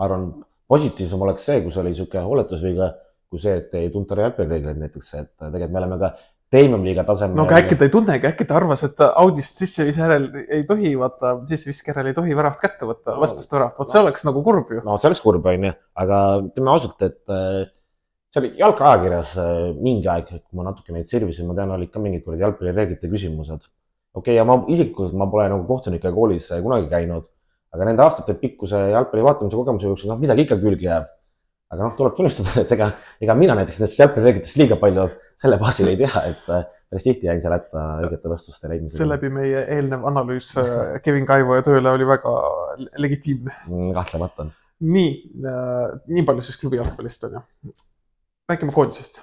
arvan, positiivsem oleks see, kus oli niisugune hooletusviga, kui see, et ei tunta jalgpallireegleid näiteks, et tegelikult me oleme ka Premium-liiga tasemel. No aga äkki ta ei tunnegi, äkki ta arvas, et Audist sissevis järel ei tohi, vaata, sissevisk järel ei tohi väravat kätte võtta, no, vastast väravat. Vaat see oleks nagu kurb ju. No see oleks kurb, on ju, aga teeme ausalt, et see oli jalgaajakirjas mingi aeg, kui ma natuke neid servisin, ma tean, olid ka mingid kuradi jalgpallireeglite küsimused. Okei, okay, ja ma isiklikult ma pole nagu kohtunike koolis kunagi käinud, aga nende aastate pikkuse jalgpalli vaatamise kogemuse jooksul, noh, midagi ikka külgi jääb. Aga noh, tuleb tunnistada, et ega, ega mina näiteks nendest jalgpallireeglitest liiga palju selle baasil ei tea, et päris tihti jäin seal hätta õigete vastuste leidmisega. See läbi meie eelnev analüüs Kevin Kaivo ja tööle oli väga legitiimne. Kahtlemata. Nii, nii palju siis klubi jalgpallist on ju. Räägime koondisest.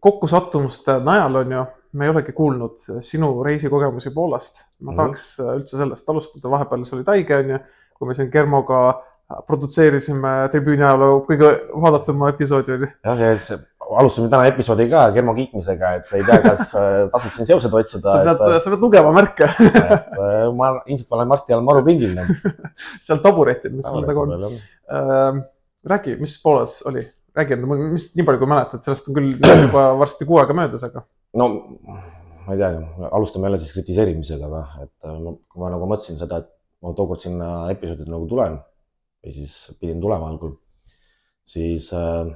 Kokkusattumuste najal on ju, me ei olegi kuulnud sinu reisikogemusi Poolast. Ma tahaks üldse sellest alustada, vahepeal see oli taige on ju, kui me siin Germoga produtseerisime tribüüni ajaloo kõige vaadatuma episoodi oli. Jah, see, alustame täna episoodi ka Germo kiitmisega, et ei tea, kas tasub siin seosed otsida. Sa pead, et, sa pead lugema märke. Et, ma ilmselt olen varsti all maru pingil. Seal taburetid, mis sul taga on. Äh, räägi, mis Poolas oli? Räägi, mis nii palju kui mäletad, sellest on küll juba varsti kuu aega möödas, aga... No, ma ei tea, alustame jälle siis kritiseerimisega. Või? Et, kui ma nagu mõtlesin seda, et ma tookord sinna episoodid nagu tulen, või siis pidin tulema algul, siis äh,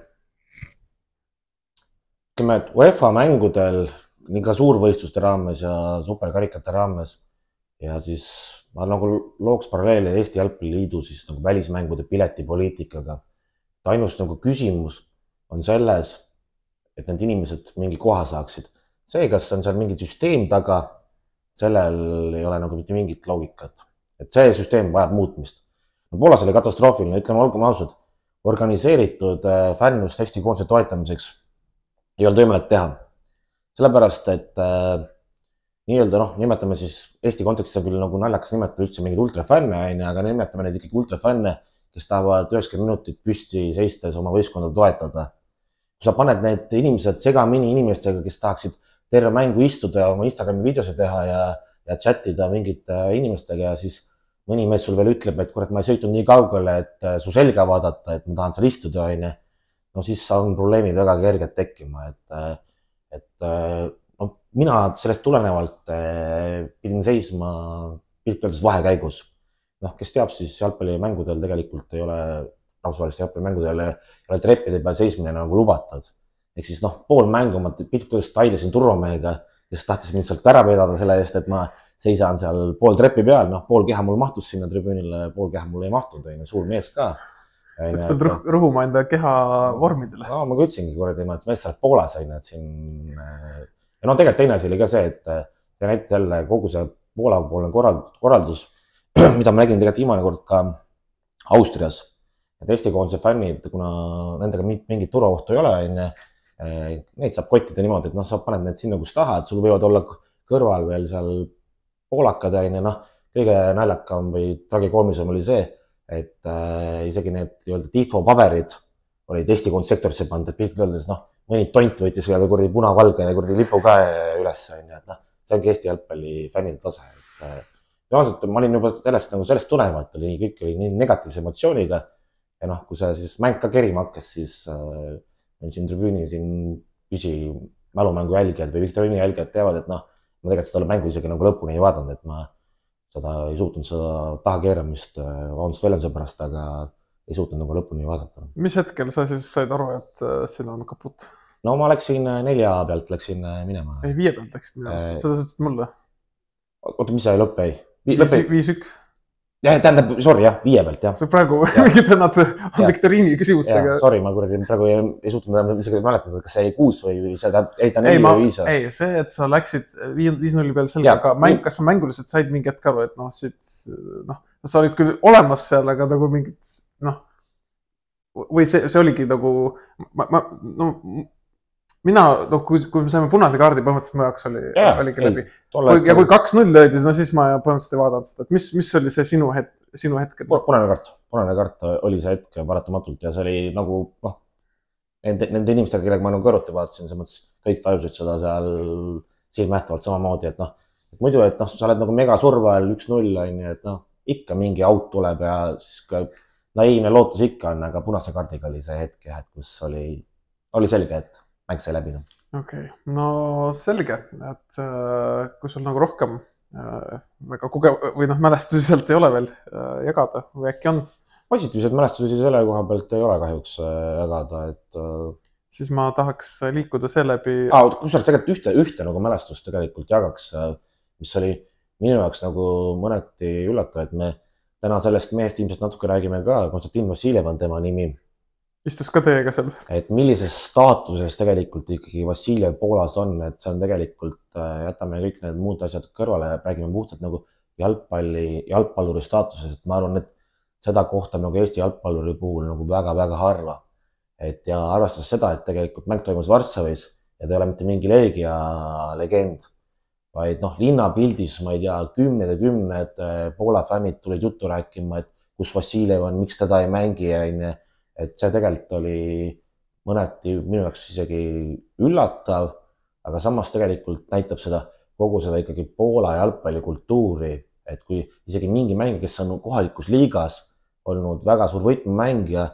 ütleme, et UEFA mängudel, nii ka suurvõistluste raames ja superkarikate raames ja siis ma nagu looks paralleeli Eesti Jalgpalliliidu siis nagu välismängude piletipoliitikaga. Ainus nagu küsimus on selles, et need inimesed mingi koha saaksid. See, kas on seal mingi süsteem taga, sellel ei ole nagu mitte mingit loogikat. Et see süsteem vajab muutmist. Poolas oli katastroofiline, ütleme olgum ausad, organiseeritud fännust Eesti koondise toetamiseks ei olnud võimalik teha. Sellepärast, et äh, nii-öelda, noh, nimetame siis Eesti kontekstis on küll nagu naljakas nimetada üldse mingid ultrafänne, aga nimetame neid ikkagi ultrafänne, kes tahavad üheksakümmend minutit püsti seistes oma võistkonda toetada. Kui sa paned need inimesed segamini inimestega, kes tahaksid terve mängu istuda ja oma Instagrami videose teha ja, ja chatida mingite inimestega ja siis mõni mees sul veel ütleb, et kurat, ma ei sõitnud nii kaugele, et su selga vaadata, et ma tahan seal istuda, on. No siis on probleemid väga kerged tekkima, et, et no, mina sellest tulenevalt pidin seisma piltpöördes vahekäigus. Noh, kes teab, siis jalgpallimängudel tegelikult ei ole, rahvusvaheliste jalgpallimängudel ei ole treppide peal seismine nagu lubatud. Ehk siis noh, pool mängu ma piltpöördes tailesin turvamehega, kes tahtis mind sealt ära vedada selle eest, et ma seisan seal pool trepi peal, noh, pool keha mul mahtus sinna tribüünile, pool keha mul ei mahtunud, on suur mees ka. Sa pead rõhuma enda keha vormidele. No, ma ütlesingi kuradi, et mees seal Poolas on, et siin... Ja no tegelikult teine asi oli ka see, et see näitas jälle kogu see Poola poolne korraldus, mida ma nägin tegelikult viimane kord ka Austrias. Et Eesti koondise fännid, kuna nendega mingit turvaohtu ei ole, neid saab kottida niimoodi, et noh, sa paned need sinna, kus tahad, sul võivad olla kõrval veel seal poolakad ja noh, kõige naljakam või tragikoomisem oli see, et äh, isegi need nii-öelda tifo paberid olid Eesti koondsektorisse pandud, et pilk öeldes, noh, mõni tont võitis või kurdi punavalge ja kurdi lipu ka üles, on ju, et noh, see ongi Eesti jalgpalli fännide tase. Et, äh, ausalt, ma olin juba sellest, nagu sellest tulenevalt, oli kõik oli nii negatiivse emotsiooniga ja noh, kui see siis mäng ka kerima hakkas, siis äh, meil siin tribüüni siin püsi mälumängu jälgijad või Viktoriini jälgijad teavad, et noh, ma tegelikult seda mängu isegi nagu lõpuni ei vaadanud, et ma seda ei suutnud seda tahakeeramist vabandust väljenduse pärast, aga ei suutnud nagu lõpuni vaadata. Mis hetkel sa siis said aru, et siin on kaput? No ma läksin nelja pealt, läksin minema. Ei, viie pealt läksid minema, äh, seda sa ütlesid mulle. Oota, mis sai lõpp ei? viis üks. Ja, tähendab, sorry, jah, viie pealt, jah. See praegu mingid vennad on Viktoriini küsimustega. Ja, sorry, ma kuradi praegu ei, ei suutnud isegi mäletada, kas see kuus või seda ei ta ei, neli ma, või viis. Ei, see, et sa läksid viis nulli peal selga, aga mäng, kas sa mänguliselt said mingi hetk aru, et noh, siit, noh, sa olid küll olemas seal, aga nagu mingid, noh, või see, see oligi nagu, ma, ma, no, mina, no kui, kui me saime punase kaardi, põhimõtteliselt mu jaoks oli, yeah, oligi ei, läbi. Kui, ja kui kaks null löödi, no siis ma põhimõtteliselt ei vaadanud seda, et mis, mis oli see sinu hetk, sinu hetk? Punane kaart, punane kaart oli see hetk paratamatult ja see oli nagu, noh, nende, nende inimestega, kellega ma nagu kõrvuti vaatasin, see mõttes kõik tajusid seda seal silmähtavalt samamoodi, et noh, et muidu, et noh, sa oled nagu mega surve all üks null on ju, et noh, ikka mingi out tuleb ja siis ka naiivne lootus ikka on, aga punase kaardiga oli see hetk, et kus oli, oli selge, et mäng sai läbi. Okei, okay. No selge, et äh, kui sul nagu rohkem äh, väga kogev või noh, mälestusi sealt ei ole veel äh, jagada või äkki on? Positiivseid mälestusi selle koha pealt ei ole kahjuks äh, jagada, et äh... siis ma tahaks liikuda seeläbi ah,. Kusjuures tegelikult ühte, ühte nagu mälestust tegelikult jagaks, mis oli minu jaoks nagu mõneti üllatav, et me täna sellest mehest ilmselt natuke räägime ka, Konstantin Vassiljev on tema nimi. Istus ka teiega seal. Et millises staatuses tegelikult ikkagi Vassiljev Poolas on, et see on tegelikult, jätame kõik need muud asjad kõrvale, räägime puhtalt nagu jalgpalli, jalgpalluri staatuses, et ma arvan, et seda kohta nagu Eesti jalgpalluri puhul nagu väga-väga harva. Et ja arvestades seda, et tegelikult mäng toimus Varssavis ja ta ei ole mitte mingi Leegia legend, vaid noh, linnapildis, ma ei tea, kümned ja kümned Poola fännid tulid juttu rääkima, et kus Vassiljev on, miks teda ei mängi, et see tegelikult oli mõneti minu jaoks isegi üllatav, aga samas tegelikult näitab seda kogu seda ikkagi Poola jalgpallikultuuri, et kui isegi mingi mängija, kes on kohalikus liigas olnud väga suur võtmemängija,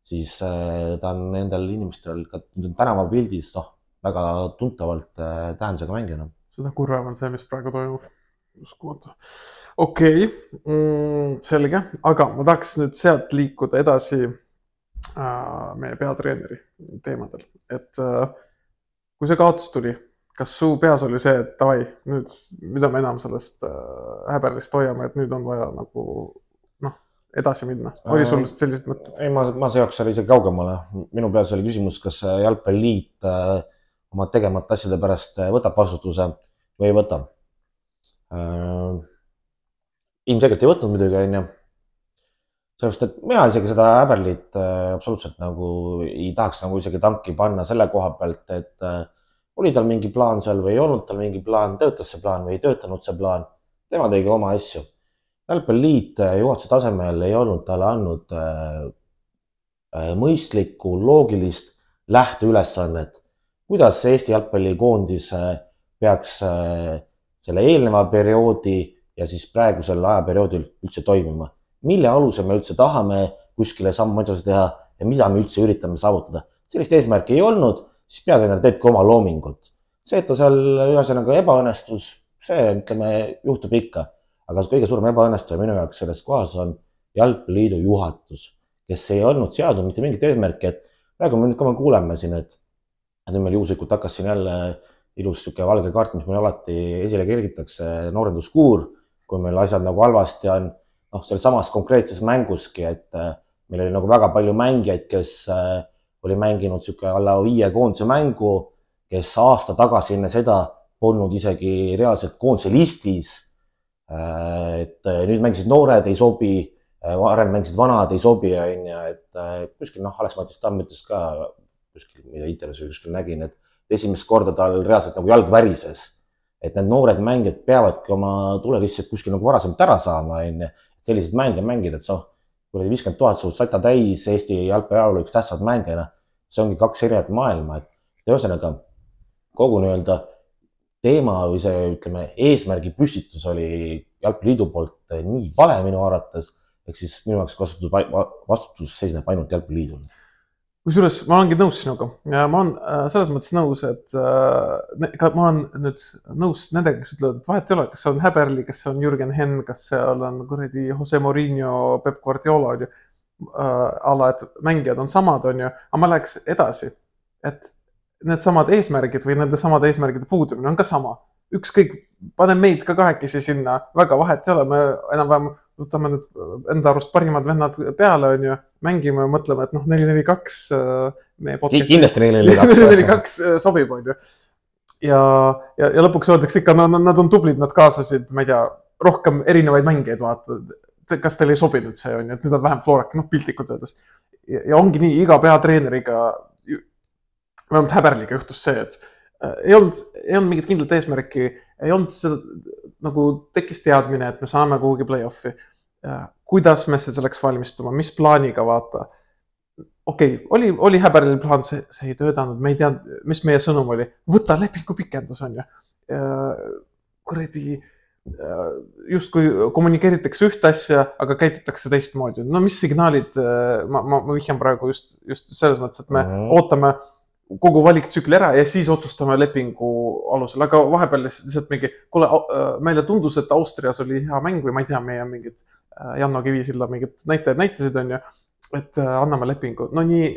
siis ta on nendel inimestel ka tänavapildis noh, väga tuntavalt tähendusega mängijana. Seda kurvam on see, mis praegu toimub. Uskumatu. Okei, okay. mm, selge, aga ma tahaks nüüd sealt liikuda edasi äh, meie peatreeneri teemadel. Et äh, kui see kaotus tuli, kas su peas oli see, et davai, nüüd mida me enam sellest äh, häberlist hoiame, et nüüd on vaja nagu noh, edasi minna? Oli sul sellised mõtted? Ei, ma, ma seoks seal isegi kaugemale. Minu peas oli küsimus, kas jalgpalliliit äh, oma tegemata asjade pärast võtab vastutuse või ei võta. Äh, ilmselgelt ei võtnud midagi, on ju. Sellepärast, et mina isegi seda häberlit äh, absoluutselt nagu ei tahaks nagu isegi tanki panna selle koha pealt, et äh, oli tal mingi plaan seal või ei olnud tal mingi plaan, töötas see plaan või ei töötanud see plaan. Tema tegi oma asju. Jalgpalliliit juhatuse tasemel ei olnud talle andnud äh, äh, mõistlikku, loogilist lähteülesannet. Kuidas Eesti jalgpallikoondis peaks selle eelneva perioodi ja siis praegusel ajaperioodil üldse toimima? Mille alusel me üldse tahame kuskile sammu edasi teha ja mida me üldse üritame saavutada? Sellist eesmärki ei olnud, siis peatreener teebki oma loomingut. See, et ta seal ühesõnaga ebaõnnestus, see ütleme, juhtub ikka. Aga kõige suurem ebaõnnestuja minu jaoks selles kohas on Jalgpalliliidu juhatus, kes ei olnud seadnud mitte mingit eesmärki, et praegu me nüüd ka me kuuleme siin, et nüüd meil juhuslikult hakkas siin jälle ilus siuke valge kaart, mis meil alati esile kergitakse, noorenduskuur, kui meil asjad nagu halvasti on, noh, selles samas konkreetses mänguski, et meil oli nagu väga palju mängijaid, kes oli mänginud siuke alla viie koondise mängu, kes aasta tagasi enne seda polnud isegi reaalselt koondise listis, et nüüd mängisid noored, ei sobi, varem mängisid vanad, ei sobi, et kuskil, noh, Alex-Matis Tamm ütles ka, kuskil, mida intervjuus või kuskil nägin, et esimest korda tal reaalselt nagu jalg värises. Et need noored mängijad peavadki oma tule lihtsalt kuskil nagu varasemalt ära saama, et sellised mänge mängida, et so, kui oli viiskümmend tuhat suust sata täis Eesti jalgpalliajaloo üks tähtsad mängijana, see ongi kaks erinevat maailma, et ühesõnaga kogu nii-öelda teema või see, ütleme, eesmärgi püstitus oli Jalgpalliliidu poolt nii vale minu arvates, ehk siis minu jaoks vastutus, vastutus seisneb ainult Jalgpalliliidul. Kusjuures ma olengi nõus sinuga ja ma olen selles mõttes nõus, et ka ma olen nüüd nõus nendega, kes ütlevad, et vahet ei ole, kas see on Häberli, kas see on Jürgen Henn, kas seal on kuradi Jose Mourinho, Pep Guardiola, on ju, ala, et mängijad on samad, on ju, aga ma läheks edasi, et need samad eesmärgid või nende samade eesmärgide puudumine on ka sama. Ükskõik, pane meid ka kahekesi sinna, väga vahet ei ole, me enam-vähem võtame nüüd enda arust parimad vennad peale, on ju, mängime ja mõtleme, et noh, neli neli kaks meie podcasti. Kindlasti neli neli kaks sobib, on ju. Ja, ja, ja lõpuks öeldakse ikka, no, nad on tublid, nad kaasasid, ma ei tea, rohkem erinevaid mängijaid vaata. kas teile ei sobinud see on, et nüüd on vähem Florak, noh piltlikult öeldes. Ja, ja ongi nii, iga peatreeneriga, vähemalt Häberliga juhtus see, et ei olnud, ei olnud mingit kindlat eesmärki, ei olnud seda, nagu tekkis teadmine, et me saame kuhugi play-offi. Kuidas me selleks valmistuma, mis plaaniga vaata. Okei, okay, oli, oli Häberlil plaan, see, see ei töötanud, me ei tea, mis meie sõnum oli. Võta lepingu pikendus on ju. Kuredi, just kui kommunikeeritakse üht asja, aga käitutakse teistmoodi. No mis signaalid, ma, ma, ma vihjan praegu just, just selles mõttes, et me mm-hmm. ootame kogu valiktsükli ära ja siis otsustame lepingu alusel, aga vahepeal lihtsalt mingi, kuule, meile tundus, et Austrias oli hea mäng või ma ei tea, meie mingid Janno Kivisilla mingid näitajad näitasid on ju, et anname lepingu. No nii,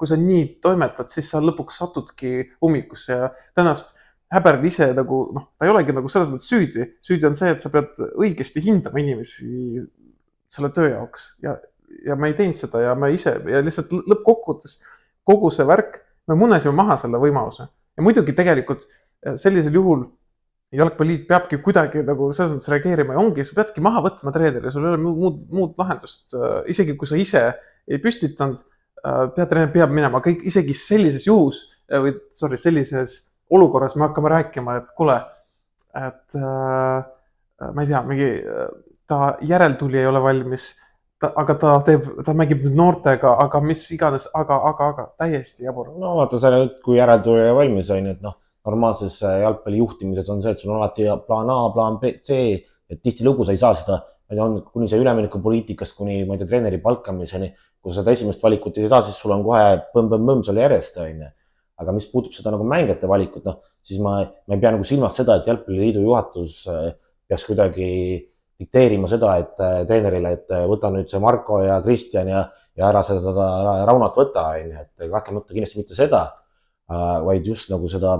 kui sa nii toimetad, siis sa lõpuks satudki ummikusse ja tänast Häberl ise nagu, noh, ta ei olegi nagu selles mõttes süüdi. Süüdi on see, et sa pead õigesti hindama inimesi selle töö jaoks ja, ja me ei teinud seda ja me ise ja lihtsalt lõppkokkuvõttes kogu see värk me munesime maha selle võimaluse. Ja muidugi tegelikult sellisel juhul jalgpalliliit peabki kuidagi nagu selles mõttes reageerima ja ongi, sa peadki maha võtma treeneri, sul ei ole muud, muud lahendust. Isegi kui sa ise ei püstitanud, peatreener peab minema kõik, isegi sellises juhus, või sorry, sellises olukorras me hakkame rääkima, et kuule, et ma ei tea, mingi ta järeltuli ei ole valmis, Ta, aga ta teeb, ta mängib nüüd noortega, aga mis iganes, aga, aga, aga täiesti jabur. No vaata, sa nüüd, kui järeltulija valmis on, et noh, normaalses jalgpalli juhtimises on see, et sul on alati plaan A, plaan B, C, et tihti lugu sa ei saa seda, ma ei tea, on kuni see üleminekupoliitikast, kuni ma ei tea, treeneri palkamiseni, kui sa seda esimest valikut ei saa, siis sul on kohe põmm-põmm-põmm seal järjest, on. Aga mis puutub seda nagu mängijate valikut, noh, siis ma, ma ei pea nagu silmas seda, et jalgpalliliidu juhatus peaks kuidagi dikteerima seda, et treenerile, et võta nüüd see Marko ja Kristjan ja, ja ära seda, seda Raunat võta, et kahtlemata kindlasti mitte seda, vaid just nagu seda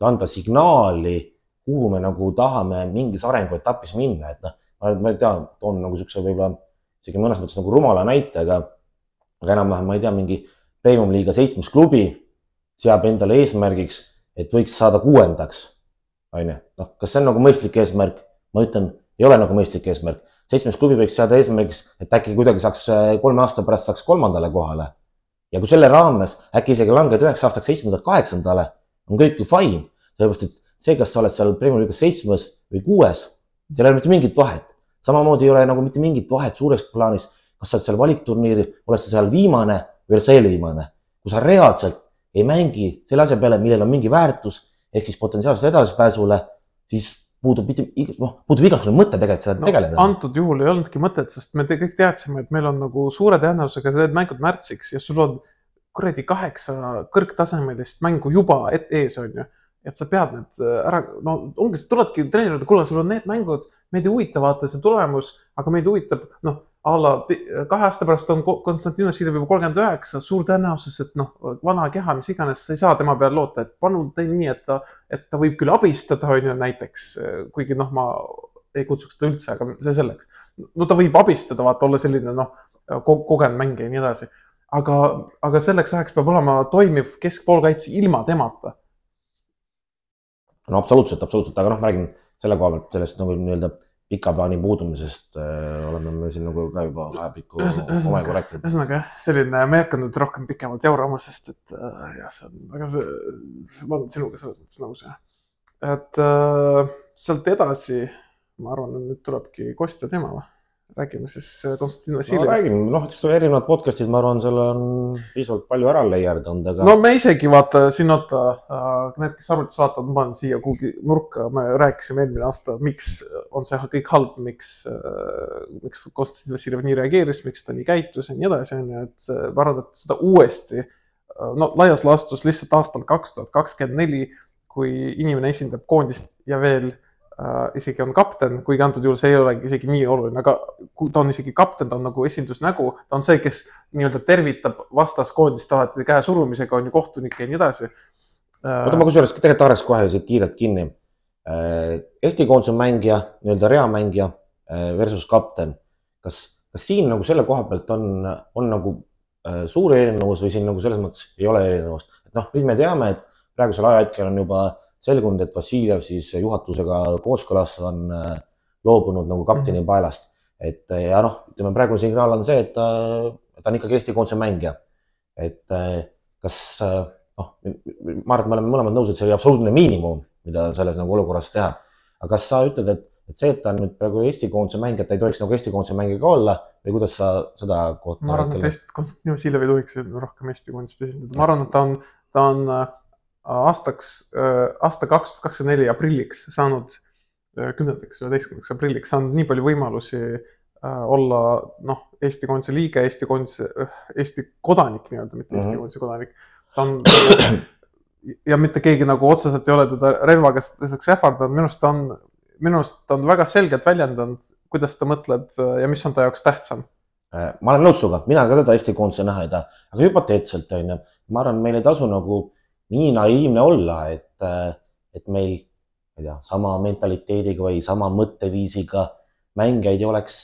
anda signaali, kuhu me nagu tahame mingis arenguetapis minna, et noh, ma ei tea, toon nagu siukse võib-olla isegi mõnes mõttes nagu rumala näite, aga, aga enam-vähem ma ei tea, mingi Premium liiga seitsmes klubi seab endale eesmärgiks, et võiks saada kuuendaks, on ju. Noh, kas see on nagu mõistlik eesmärk? Ma ütlen, ei ole nagu mõistlik eesmärk. Seitsmes klubi võiks saada eesmärgiks, et äkki kuidagi saaks kolme aasta pärast saaks kolmandale kohale. Ja kui selle raames äkki isegi langed üheks aastaks seitsmendalt kaheksandale, on kõik ju fine. Sellepärast, et see, kas sa oled seal Premium liigas seitsmes või kuues, seal ei ole mitte mingit vahet. Samamoodi ei ole nagu mitte mingit vahet suures plaanis, kas sa oled seal valikturniiril, oled sa seal viimane või oled sa eelviimane. Kui sa reaalselt ei mängi selle asja peale, millel on mingi väärtus, ehk siis potentsiaalselt edasipääsule, siis puudub, noh, puudub igasugune mõte tegelikult seda no, tegeleda. Antud juhul ei olnudki mõtet, sest me te kõik teadsime, et meil on nagu suure tõenäosusega need mängud märtsiks ja sul on kuradi kaheksa kõrgtasemelist mängu juba et ees on ju. Et sa pead need ära, no ongi, tuledki treenerida, kuule, sul on need mängud, meid ei huvita vaata see tulemus, aga meid huvitab, noh, alla kahe aasta pärast on Konstantinos Siljev juba kolmkümmend üheksa, suur tõenäosus, et noh, vana keha, mis iganes, sa ei saa tema peale loota, et panu tei nii, et ta, et ta võib küll abistada, on ju näiteks, kuigi noh, ma ei kutsuks ta üldse, aga see selleks. No ta võib abistada, vaata, olla selline noh, kogenud mängija ja nii edasi. Aga, aga selleks ajaks peab olema toimiv keskpoolkaitse ilma temata. No absoluutselt, absoluutselt, aga noh, ma räägin selle koha pealt sellest nagu nii-öelda pika plaani puudumisest äh, oleme me siin nagu ka juba ajapikku oma korrektid. Ühesõnaga, selline, me ei hakka nüüd rohkem pikemalt jaurama, sest et äh, jah, see on, aga see, ma olen sinuga selles mõttes nõus, jah. Et äh, sealt edasi, ma arvan, et nüüd tulebki Kostja teema või? Räägime siis Konstantin Vassiljevast. No räägime, noh, eks erinevad podcastid, ma arvan, selle on piisavalt palju ära leierdanud, aga... No me isegi vaata, siin oota, need, kes arvutis vaatavad, ma panen siia kuhugi nurka, me rääkisime eelmine aasta, miks on see kõik halb, miks, miks Konstantin Vassiljev nii reageeris, miks ta nii käitus ja nii edasi, et ma arvan, et seda uuesti, no laias laastus lihtsalt aastal kaks tuhat kakskümmend neli, kui inimene esindab koondist ja veel Uh, isegi on kapten, kuigi antud juhul see ei ole isegi nii oluline, aga kui ta on isegi kapten, ta on nagu esindusnägu, ta on see, kes nii-öelda tervitab vastas koondist alati käe surumisega, on ju kohtunike ja nii edasi. Oota, ma kusjuures tegelikult haaraks kohe siit kiirelt kinni. Eesti koondise mängija, nii-öelda reamängija versus kapten. Kas, kas siin nagu selle koha pealt on, on nagu suur erinevus või siin nagu selles mõttes ei ole erinevust? Et noh, nüüd me teame, et praegusel ajahetkel on juba selgunud, et Vassiljev siis juhatusega kooskõlas on loobunud nagu kapteni paelast. et ja noh, ütleme praegune signaal on see, et ta, ta on ikkagi Eesti koondise mängija. Et kas, noh, ma arvan, et me oleme mõlemad nõus, et see oli absoluutne miinimum, mida selles nagu olukorras teha. Aga kas sa ütled, et, et see, et ta on nüüd praegu Eesti koondise mängija, et ta ei tohiks nagu Eesti koondise mängija ka olla või kuidas sa seda kohta? Ma arvan, et Eesti Konstantin Vassiljev ei tohiks rohkem Eesti koondist esindada. Ma arvan, et ta on, ta on aastaks, aasta kaks tuhat kakskümmend neli aprilliks saanud kümnendaks, üheteistkümnendaks aprilliks saanud nii palju võimalusi olla noh, Eesti koondise liige, Eesti koondise, Eesti kodanik nii-öelda, mitte Eesti koondise kodanik. Ta on, ja mitte keegi nagu otseselt ei ole teda relvaga ähvardanud. Minust ta on, minust ta on väga selgelt väljendanud, kuidas ta mõtleb ja mis on ta jaoks tähtsam. Ma olen nõus suga, mina ka teda Eesti koondise näha ei taha, aga hüpoteetselt on, ma arvan, meil ei tasu nagu nii naiivne olla, et, et meil ei tea, sama mentaliteediga või sama mõtteviisiga mängijaid ei oleks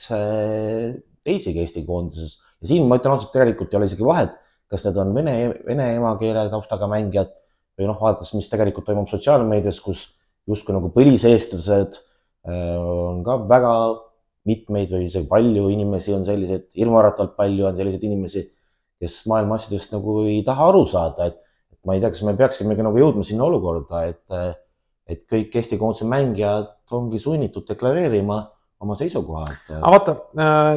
teisigi Eesti koondises. Ja siin ma ütlen ausalt, tegelikult ei ole isegi vahet, kas need on vene, vene emakeele taustaga mängijad või noh, vaadates, mis tegelikult toimub sotsiaalmeedias, kus justkui nagu põliseestlased on ka väga mitmeid või isegi palju inimesi on sellised, ilmaratalt palju on selliseid inimesi, kes maailma asjadest nagu ei taha aru saada, et, et ma ei tea, kas me peakski nagu jõudma sinna olukorda, et et kõik Eesti koondise mängijad ongi sunnitud deklareerima oma seisukohad. Aga vaata,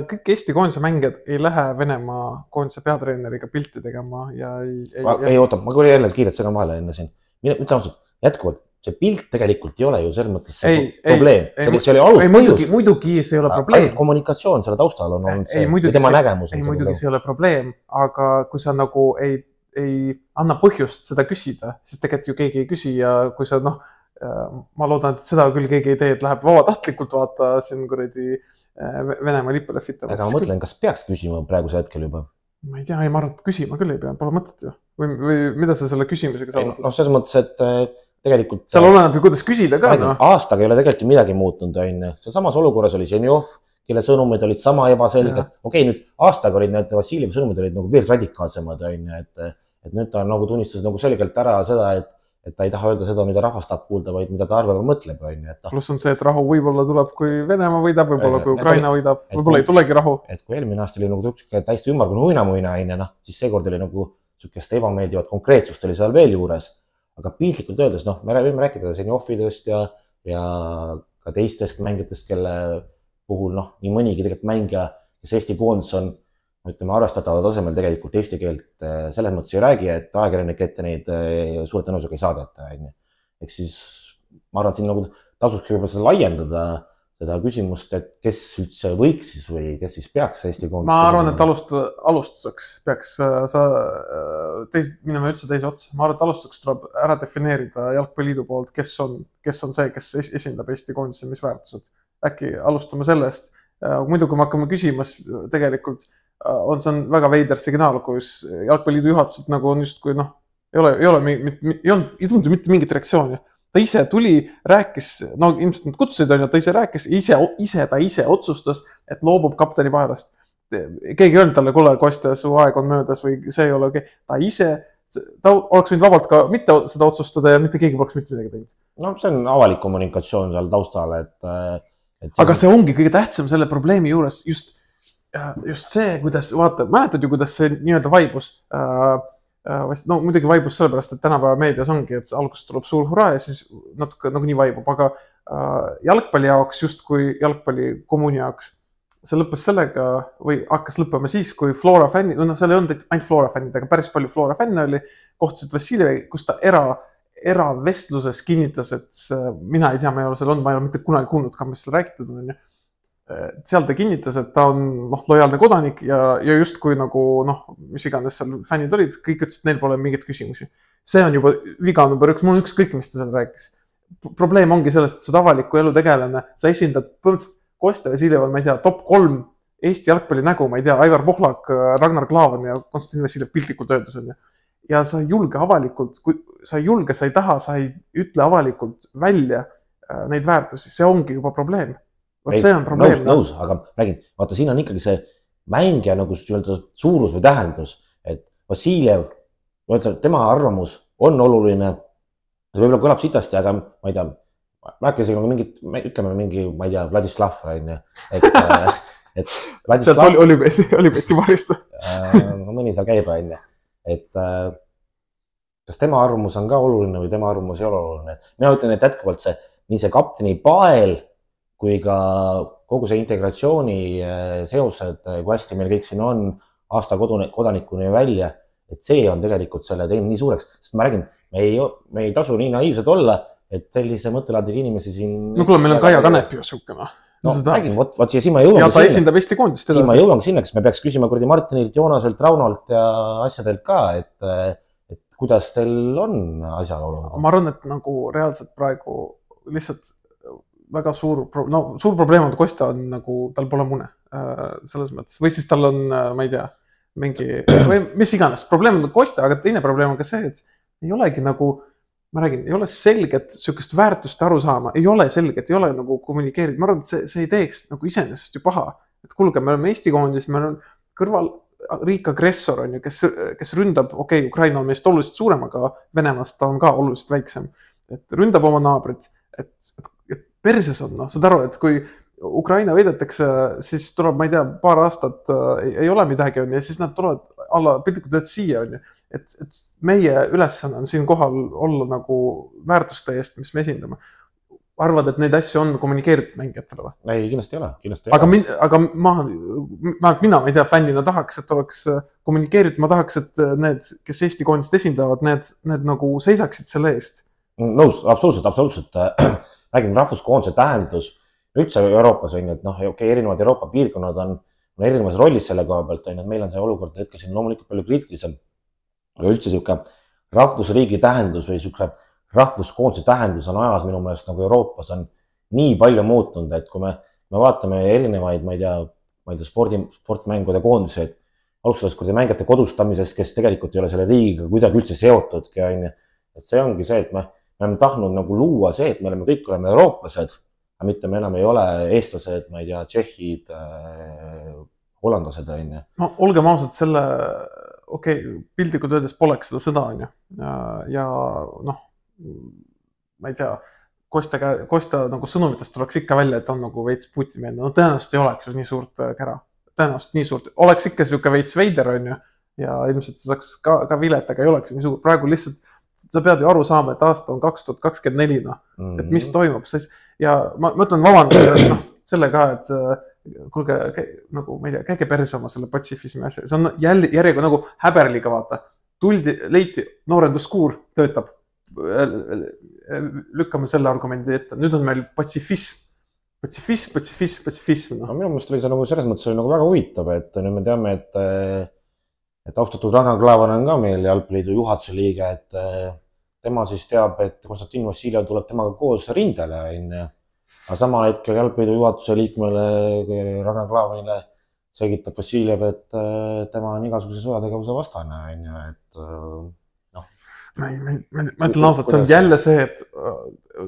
kõik Eesti koondise mängijad ei lähe Venemaa koondise peatreeneriga pilti tegema ja ei... Ei, ma, ei oota, ma kui jälle kiiret segan vahele enne siin. Mina ütlen ausalt, jätkuvalt, see pilt tegelikult ei ole ju selles mõttes see ei, probleem. Ei, see, see oli alus ei, muidugi, muidugi see ei ole probleem. Kommunikatsioon selle taustal on olnud see, ei, tema nägemus. Ei, muidugi see ei ole probleem, aga kui sa nagu ei, ei anna põhjust seda küsida, siis tegelikult ju keegi ei küsi ja kui sa noh, ma loodan, et seda küll keegi ei tee, et läheb vabatahtlikult vaata siin kuradi Venemaa lipule fitama. Aga ma mõtlen, kas peaks küsima praeguse hetkel juba? Ma ei tea, ei ma arvan, et küsima küll ei pea, pole mõtet ju. Või, või mida sa selle küsimisega saavutad? No selles mõttes, et tegelikult... Seal oleneb ju, kuidas küsida ka. No. Aastaga ei ole tegelikult ju midagi muutunud. See samas olukorras oli Ženjov, kelle sõnumid olid sama ebaselged. Okei, nüüd aastaga olid need Vassiljevi sõnumid olid nagu veel radikaalsemad. Et, et nüüd ta nagu tunnistas nagu selgelt ära seda, et et ta ei taha öelda seda, mida rahvas tahab kuulda, vaid mida ta arvab ja mõtleb. Plus on see, et rahu võib-olla tuleb, kui Venemaa võidab, võib-olla kui Ukraina võidab, võib-olla ei tulegi rahu. Et kui eelmine aasta oli nagu täiesti ümmargune huinamuina, noh, siis seekord oli nagu sükest ebameeldivat konkreetsust oli seal veel juures. Aga piltlikult öeldes, noh, me võime rääkida Ženjovidest ja, ja ka teistest mängijatest, kelle puhul, noh, nii mõnigi tegelikult mängija, kes Eesti koondis on, ütleme, arvestatava tasemel tegelikult eesti keelt selles mõttes ei räägi, et ajakirjanik ette neid suure tõenäosusega ei saadeta. Ehk siis ma arvan, et siin nagu tasuks võib-olla seda laiendada, seda küsimust, et kes üldse võiks siis või kes siis peaks Eesti koondist. Ma arvan, et alustada, alustuseks peaks sa teis, minema üldse teise otsa. Ma arvan, et alustuseks tuleb ära defineerida Jalgpalliliidu poolt, kes on, kes on see, kes esindab Eesti koondise, mis väärtused. Äkki alustame sellest. Muidu, kui me hakkame küsimas tegelikult on see on väga veider signaal, kus Jalgpalliliidu juhatused nagu on just kui noh, ei ole, ei ole, ei olnud, ei tundu mitte mingit reaktsiooni. Ta ise tuli, rääkis, no ilmselt nad kutsusid on, ta ise rääkis, ise, ise, ta ise otsustas, et loobub kapteni paelast. Keegi ei öelnud talle, kuule, Kostja, su aeg on möödas või see ei ole okei. Ta ise, ta oleks võinud vabalt ka mitte seda otsustada ja mitte keegi poleks mitte midagi teinud. No see on avalik kommunikatsioon seal taustal, et... et see... Aga see ongi kõige tähtsam selle probleemi juures just just see, kuidas, vaata, mäletad ju, kuidas see nii-öelda vaibus, no muidugi vaibus sellepärast, et tänapäeva meedias ongi, et alguses tuleb suur hurraa ja siis natuke nagu nii vaibub, aga jalgpalli jaoks, just kui jalgpalli kommuuni jaoks, see lõppes sellega või hakkas lõppema siis, kui Flora fännid, no seal ei olnud ainult Flora fännid, aga päris palju Flora fänne oli, kohtusid Vassiljevi, kus ta era, eravestluses kinnitas, et mina ei tea, ma ei ole seal olnud, ma ei ole mitte kunagi kuulnud ka, mis seal räägitud on, seal ta kinnitas, et ta on noh, lojaalne kodanik ja, ja just kui nagu noh, mis iganes seal fännid olid, kõik ütlesid, et neil pole mingit küsimusi. See on juba viga number üks, mul on ükskõik, mis ta seal rääkis. Probleem ongi sellest, et sa avaliku elu tegelane, sa esindad põhimõtteliselt Kostja Vassiljev on, ma ei tea, top kolm Eesti jalgpalli nägu, ma ei tea, Aivar Pohlak, Ragnar Klavan ja Konstantin Vassiljev piltlikult öeldus on. Ja sa ei julge avalikult, kui sa ei julge, sa ei taha, sa ei ütle avalikult välja neid väärtusi, see ongi juba probleem. Vaat see on probleem. Nõus, nõus, aga räägin, vaata, siin on ikkagi see mängija nagu suurus või tähendus, et Vassiljev, tema arvamus on oluline, see võib-olla kõlab sitasti, aga ma ei tea, ma äkki isegi mingit, ütleme mingi, ma ei tea, Vladislav, et, et sealt oli, oli, oli Betsi varistu. no mõni seal käib, on ju. Et kas tema arvamus on ka oluline või tema arvamus ei ole oluline. Mina ütlen, et jätkuvalt see, nii see kapteni Pael kui ka kogu see integratsiooni seosed, kui hästi meil kõik siin on aasta kodanikuni välja, et see on tegelikult selle teinud nii suureks. Sest ma räägin, me ei, me ei tasu nii naiivsed olla, et sellise mõttelaadiga inimesi siin... No kuule, meil on Kaia Kanep ju siukene. No räägin, võt, võt siia ma jõuangi ja ta esindab Eesti koondist edasi. Siin ma jõuangi sinna, kas me peaks küsima kurdi Martinilt, Joonaselt, Raunolt ja asjadelt ka, et, et kuidas teil on asjaolud? Ma arvan, et nagu reaalselt praegu lihtsalt väga suur, no suur probleem on Kostja on nagu, tal pole mune selles mõttes. Või siis tal on, ma ei tea, mingi, või mis iganes. Probleem on Kostja, aga teine probleem on ka see, et ei olegi nagu, ma räägin, ei ole selget sükest väärtust aru saama. Ei ole selget, ei ole nagu kommunikeerid. Ma arvan, et see, see ei teeks nagu iseenesest ju paha. Et kuulge, me oleme Eesti koondis, me on kõrval riik agressor on ju, kes, kes ründab, okei, okay, Ukraina on meist oluliselt suurem, aga Venemaast ta on ka oluliselt väiksem. Et ründab oma naabrit, et, et, et perses on, noh, saad aru, et kui Ukraina võidetakse, siis tuleb, ma ei tea, paar aastat äh, ei, ei ole midagi on ja siis nad tulevad alla piltlikult tööd siia on ju. Et, et meie ülesanne on siin kohal olla nagu väärtuste eest, mis me esindame. Arvad, et neid asju on kommunikeeritud mängijatele või? Ei, kindlasti ei ole. Kindlasti ei aga, min, aga ma, ma, mina, ma ei tea, fännina tahaks, et oleks kommunikeeritud, ma tahaks, et need, kes Eesti koondist esindavad, need, need nagu seisaksid selle eest. Nõus, absoluutselt, absoluutselt. Räägin rahvuskoondse tähendus üldse Euroopas on ju, et noh, okay, erinevad Euroopa piirkonnad on, on erinevas rollis selle koha pealt on ju, et meil on see olukord hetkel siin loomulikult palju kriitilisem. Aga üldse siuke rahvusriigi tähendus või siuke rahvuskoondse tähendus on ajas minu meelest nagu Euroopas on nii palju muutunud, et kui me, me vaatame erinevaid, ma ei tea, ma ei tea, spordi, sportmängude koondiseid, alustades kurdi mängijate kodustamisest, kes tegelikult ei ole selle riigiga kuidagi üldse seotudki, on ju. Et see ongi see, et me, me oleme tahtnud nagu luua see, et me oleme kõik oleme eurooplased, aga mitte me enam ei ole eestlased, ma ei tea, tšehhid, äh, hollandlased, on ju. No olgem ausad, selle, okei, okay, pildikud öeldes poleks seda sõda, on ju. Ja, ja noh, ma ei tea, Kostja, Kostja nagu sõnumitest tuleks ikka välja, et on nagu veits Putin-meelne. No tõenäoliselt ei oleks ju nii suurt kära. Tõenäoliselt nii suurt. Oleks ikka siuke veits veider, on ju. Ja ilmselt saaks ka, ka vilet, aga ei oleks nii suur. Praegu lihtsalt, sa pead ju aru saama, et aasta on kaks tuhat kakskümmend neli, noh. Mm-hmm. Et mis toimub. Ja ma mõtlen vabandust, noh, selle ka, et kuulge, nagu, ma ei tea, käige perse oma selle patsifismi asja. See on jälle järjega nagu häberliga, vaata. Tuldi, leiti, noorenduskuur töötab. Lükkame selle argumendi ette. Nüüd on meil patsifism. Patsifism, patsifism, patsifism. No. No, minu mõelest oli see nagu selles mõttes oli nagu väga huvitav, et nüüd me teame, et, et austatud Ragnar Klavan on ka meil Jalgpalliliidu juhatuse liige, et tema siis teab, et Konstantin Vassiljev tuleb temaga koos rindele. Aga samal hetkel Jalgpalliliidu juhatuse liikmele Ragnar Klavanile selgitab Vassiljev, et tema on igasuguse sõjategevuse vastane. Et Ma, ma, ma, ma ütlen ausalt, see on jälle see, et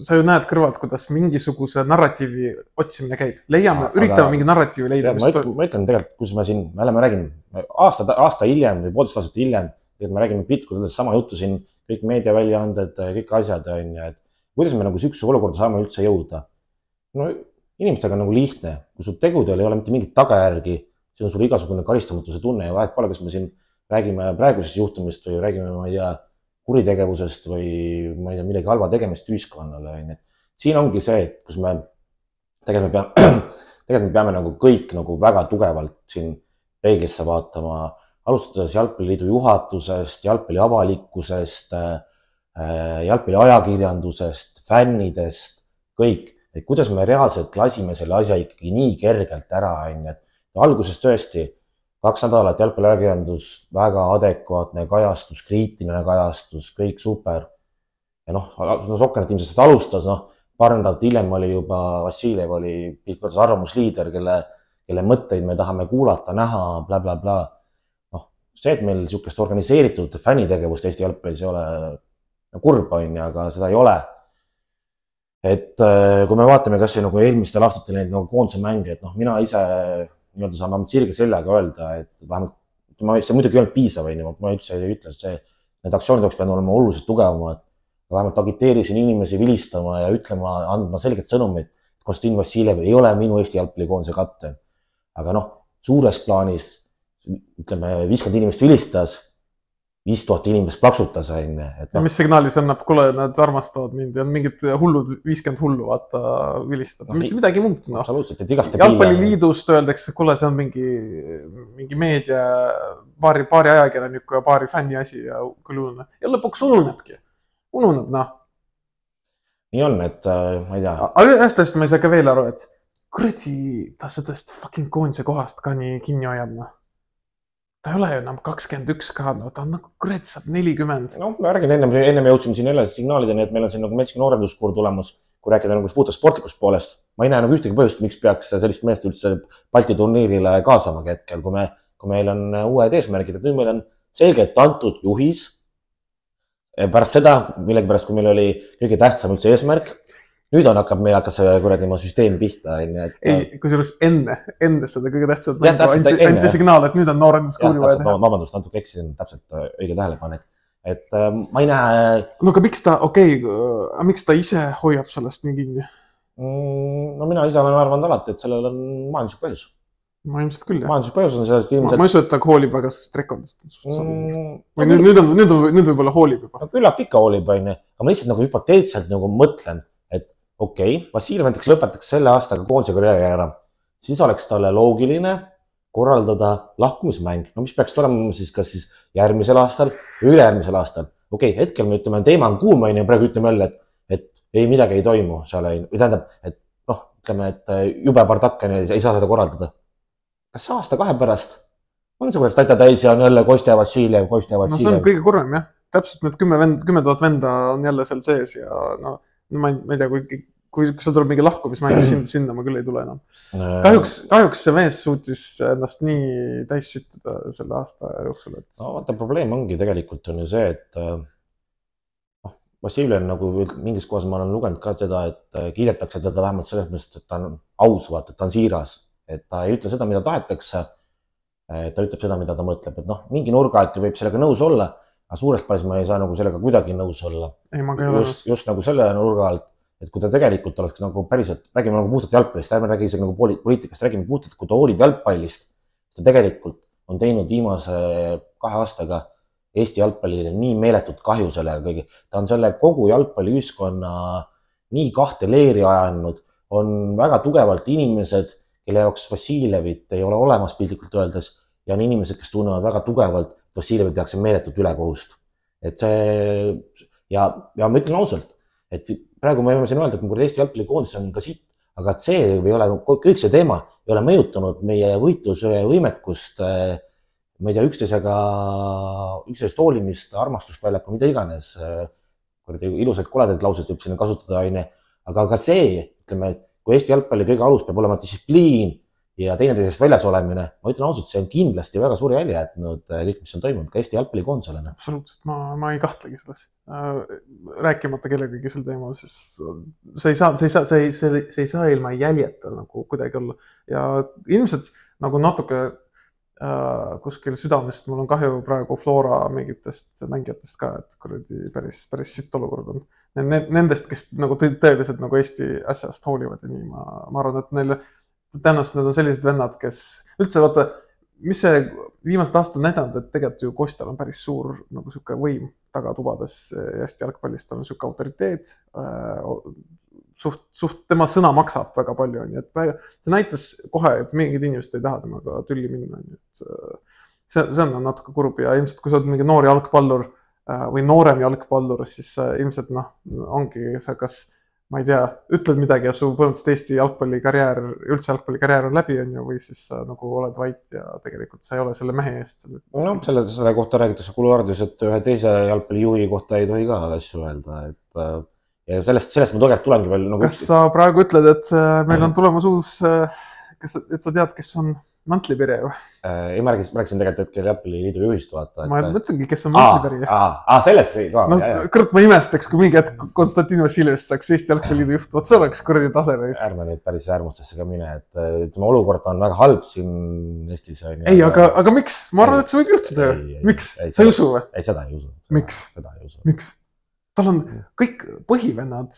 sa ju näed kõrvalt, kuidas mingisuguse narratiivi otsimine käib. Leiame, aga, üritame mingi narratiivi leida. Ma ütlen, ma ütlen tegelikult, kus me siin, me oleme rääginud aasta, aasta hiljem või poolteist aastat hiljem, et me räägime piltkudest sama juttu siin, kõik meediaväljaanded, kõik asjad on ja et kuidas me nagu sükse olukorda saame üldse jõuda. No inimestega on nagu lihtne, kui sul tegudel ei ole mitte mingit tagajärgi, siis on sul igasugune karistamatuse tunne ja vahet pole, kas me siin räägime praegusest juhtumist või räägime, ma ei tea, kuritegevusest või ma ei tea, millegi halva tegemist ühiskonnale. Siin ongi see, et kus me tegelikult me peame, tegelikult me peame nagu kõik nagu väga tugevalt siin peeglisse vaatama, alustades Jalgpalliliidu juhatusest, jalgpalli avalikkusest, jalgpalli ajakirjandusest, fännidest, kõik. Et kuidas me reaalselt lasime selle asja ikkagi nii kergelt ära. Alguses tõesti kaks nädalat jalgpalliajakirjandus, väga adekvaatne kajastus, kriitiline kajastus, kõik super. Ja noh, Sokkenet ilmselt alustas, noh, paar nädalat hiljem oli juba Vassiljev oli pilkvõrdas arvamusliider, kelle, kelle mõtteid me tahame kuulata, näha, bla, bla, bla. Noh, see, et meil siukest organiseeritud fännitegevust Eesti jalgpallis ei ole kurb, on, aga seda ei ole. Et kui me vaatame, kas see nagu eelmistel aastatel neid nagu koondse mänge, et noh, mina ise nii-öelda saan sirge sellega öelda, et vähemalt, see muidugi ei olnud piisav, ma üldse ei ütle, et see, need aktsioonid oleks pidanud olema oluliselt tugevamad, vähemalt agiteerisin inimesi vilistama ja ütlema, andma selget sõnumit, et Konstantin Vassiljev ei ole minu Eesti jalgpallikoondise kapten. aga noh, suures plaanis, ütleme, viiskümmend inimest vilistas, viis tuhat inimest plaksutas, on. No. Mis signaali see annab, kuule, nad armastavad mind ja on mingid hullud, viiskümmend hullu, vaata, vilistada. Mitte midagi muud. No. Absoluutselt, et igast Jalgpalliliidust öeldakse, kuule, see on mingi, mingi meedia, paari, paari ajakirjaniku ja paari fänni asi ja küll ununeb. Ja lõpuks ununebki. Ununeb, noh. Nii on, et ma ei tea. Aga ühest asjast ma ei saa ka veel aru, et kuradi, ta sellest fucking koondise kohast ka nii kinni hoiab, noh. Ta ei ole ju enam kakskümmend üks ka, no ta on nagu kurat saab nelikümmend. No, ma räägin, ennem, ennem jõudsime siin jälle signaalideni, et meil on siin nagu metsik noorenduskuur tulemus, kui rääkida nagu puuta sportlikust poolest. Ma ei näe nagu ühtegi põhjust, miks peaks sellist meest üldse Balti turniirile kaasamagi hetkel, kui, me, kui meil on uued eesmärgid, et nüüd meil on selgelt antud juhis. Pärast seda, millegi pärast, kui meil oli kõige tähtsam üldse eesmärk, nüüd on hakkab meil hakkas kuradi ma süsteem pihta. Et... Ei, kui sellest enne, enne seda kõige tähtsam anti, anti signaal, et nüüd on noorenduskuuri vaja teha. Vabandust, natuke eksisin täpselt õige tähelepanek. Et äh, ma ei näe... No aga miks ta, okei, okay, miks ta ise hoiab sellest nii kinni? Mm, no mina ise olen arvanud alati, et sellel on majanduslik põhjus. Ma ilmselt küll, jah. Majanduslik põhjus on sellest ilmselt... Ma, ma ei usu, et ta hoolib väga sellest rekordist. Mm, või nüüd, nüüd, on, nüüd, on, nüüd võib-olla hoolib juba. No, küllap ikka hoolib, on. Aga ma lihtsalt nagu hüpoteetselt nagu mõtlen, et okei, okay, Vassiljev näiteks lõpetaks selle aastaga koondise karjääri ära, siis oleks talle loogiline korraldada lahkumismäng. No mis peaks tulema siis kas siis järgmisel aastal või ülejärgmisel aastal. Okei, okay, hetkel me ütleme, teema on kuum, ja praegu ütleme jälle, et, et ei midagi ei toimu seal. Ei, või tähendab, et noh, ütleme, et jube partakene ei saa seda korraldada. Kas aasta kahe pärast on see, kuidas tata täis ja on jälle Kostja Vassiljev, Kostja Vassiljev? No see on kõige kurvem, jah. Täpselt need kümme, vend, kümme tuhat venda on jälle seal sees ja no, ma ei, ma ei tea, kui, kui seal tuleb mingi lahkumismäng, sinna, sinna ma küll ei tule enam. Kahjuks, kahjuks see mees suutis ennast nii täis sittuda selle aasta jooksul. Et... No vaata, probleem ongi tegelikult on ju see, et noh, Vassiljev on nagu mingis kohas ma olen lugenud ka seda, et kiidetakse teda vähemalt selles mõttes, et ta on aus, vaata, et ta on siiras. Et ta ei ütle seda, mida tahetakse, ta ütleb seda, mida ta mõtleb. Et noh, mingi nurga alt ju võib sellega nõus olla, aga suurest paes ma ei saa nagu sellega kuidagi nõus olla. Ei, ma ka ei ole. Just, just nagu selle nurga alt, et kui ta tegelikult oleks nagu päriselt, räägime nagu puhtalt jalgpallist, ärme räägi isegi nagu poliitikast, räägime puhtalt, kui ta hoolib jalgpallist, ta tegelikult on teinud viimase kahe aastaga Eesti jalgpallile nii meeletut kahju sellega kõigi. Ta on selle kogu jalgpalliühiskonna nii kahte leeri ajanud, on väga tugevalt inimesed, kelle jaoks Vassiljevit ei ole olemas piltlikult öeldes ja on inimesed, kes tunnevad väga tugevalt, et Vassiljevit tehakse meeletut ülekohust. Et see, ja, ja ma ütlen ausalt, et praegu me võime siin öelda, et kui Eesti jalgpallikoondis on ka siit, aga see ei ole, kõik see teema ei ole mõjutanud meie võitluse võimekust, ma ei tea, üksteisega, üksteisest hoolimist, armastust väljakul, mida iganes, ilusaid koledaid lauseid võib sinna kasutada, aine. Aga ka see, ütleme, kui Eesti jalgpalli kõige alus peab olema distsipliin ja teineteisest väljas olemine, ma ütlen ausalt, see on kindlasti väga suuri jälje jätnud kõik, mis on toimunud ka Eesti jalgpallikoondisele. Absoluutselt, ma, ma ei kahtlegi selles. Rääkimata kellegagi sel teemal, siis see ei saa, see ei saa, see ei, see, see ei saa ilma jäljeta nagu kuidagi olla. Ja ilmselt nagu natuke äh, kuskil südamest mul on kahju praegu Flora mingitest mängijatest ka, et kuradi päris, päris sitt olukord on. Nendest, kes nagu tõeliselt nagu Eesti asjast hoolivad ja nii, ma, ma arvan, et neil tõenäoliselt need on sellised vennad, kes üldse vaata, mis see viimased aastad näidanud, et tegelikult ju Kostjal on päris suur nagu siuke võim tagatubades Eesti jalgpallist, tal on siuke autoriteet, suht, suht tema sõna maksab väga palju, nii et väga, see näitas kohe, et mingid inimesed ei taha temaga tülli minna, nii et see, see on natuke kurb ja ilmselt kui sa oled mingi noor jalgpallur või noorem jalgpallur, siis ilmselt noh, ongi sa kas ma ei tea, ütled midagi ja su põhimõtteliselt Eesti jalgpallikarjäär, üldse jalgpallikarjäär on läbi, on ju, või siis sa nagu oled vait ja tegelikult sa ei ole selle mehe eest. Selle... No, selle, selle kohta räägitakse kuluaardis, et ühe teise jalgpallijuhi kohta ei tohi ka asju öelda. Et, ja sellest, sellest ma tegelikult tulengi veel... Nagu... Kas sa praegu ütled, et meil on tulemas uus, kes, et sa tead, kes on Mantlipirje? Ei, ma rääkisin, rääkisin tegelikult hetkel Jalgpalliliidu juhist vaata. Ma et... mõtlengi, kes on Mantlipirje. Aa, aa, sellest ei ka. No, kõrt ma imestaks, kui mingi hetk Konstantin Vassiljevist saaks Eesti Jalgpalliliidu juht. Vaat see oleks kuradi tase. Ärme nüüd päris äärmustesse ka mine, et ütleme, olukord on väga halb siin Eestis. Ei, aga, aga miks? Ma arvan, et see võib juhtuda ju. Miks? Sa ei usu või? Ei, seda ei usu. Miks? Seda ei usu. Miks? tal on kõik põhivennad,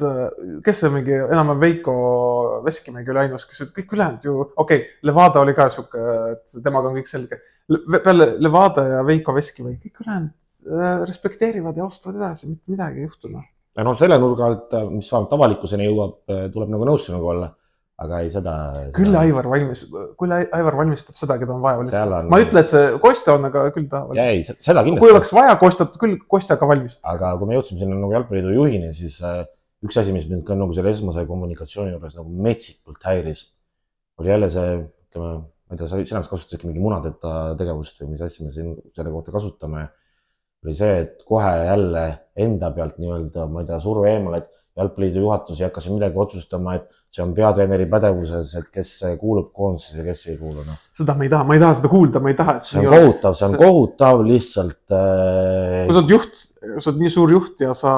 kes on mingi enam Veiko Veskimägi oli ainus, kes kõik ülejäänud ju, okei, okay, Levada oli ka siuke, et temaga on kõik selge. Peale Levada ja Veiko Veskimägi, kõik ülejäänud respekteerivad ja austavad edasi, mitte midagi ei juhtu. Ja no selle nurga alt, mis vähemalt avalikkuseni jõuab, tuleb nagu nõus sinuga olla. Aga ei seda... Küll seda... Aivar valmistab, küll Aivar valmistab seda, keda on vaja valmistada. On... Ma ei ütle, et see Kostja on, aga küll ta valmistab. Ei, seda kindlasti. Kui oleks vaja Kostjat, küll Kostja ka valmistab. Aga kui me jõudsime sinna nagu jalgpalliliidu juhini, siis üks asi, mis mind ka nagu selle esmase kommunikatsiooni juures nagu metsikult häiris, oli jälle see, ütleme, ma ei tea, sina vist kasutasid mingi munadeta tegevust või mis asja me siin selle kohta kasutame, oli see, et kohe jälle enda pealt nii-öelda, ma ei tea, surve eemal, et jalgpalliliidu juhatus ei hakka siin midagi otsustama, et see on peatreeneri pädevuses, et kes kuulub koondisesse ja kes ei kuulu. No. Seda ma ei taha, ma ei taha seda kuulda, ma ei taha, et see on kohutav, see on kohutav lihtsalt. Kui sa oled juht, sa oled nii suur juht ja sa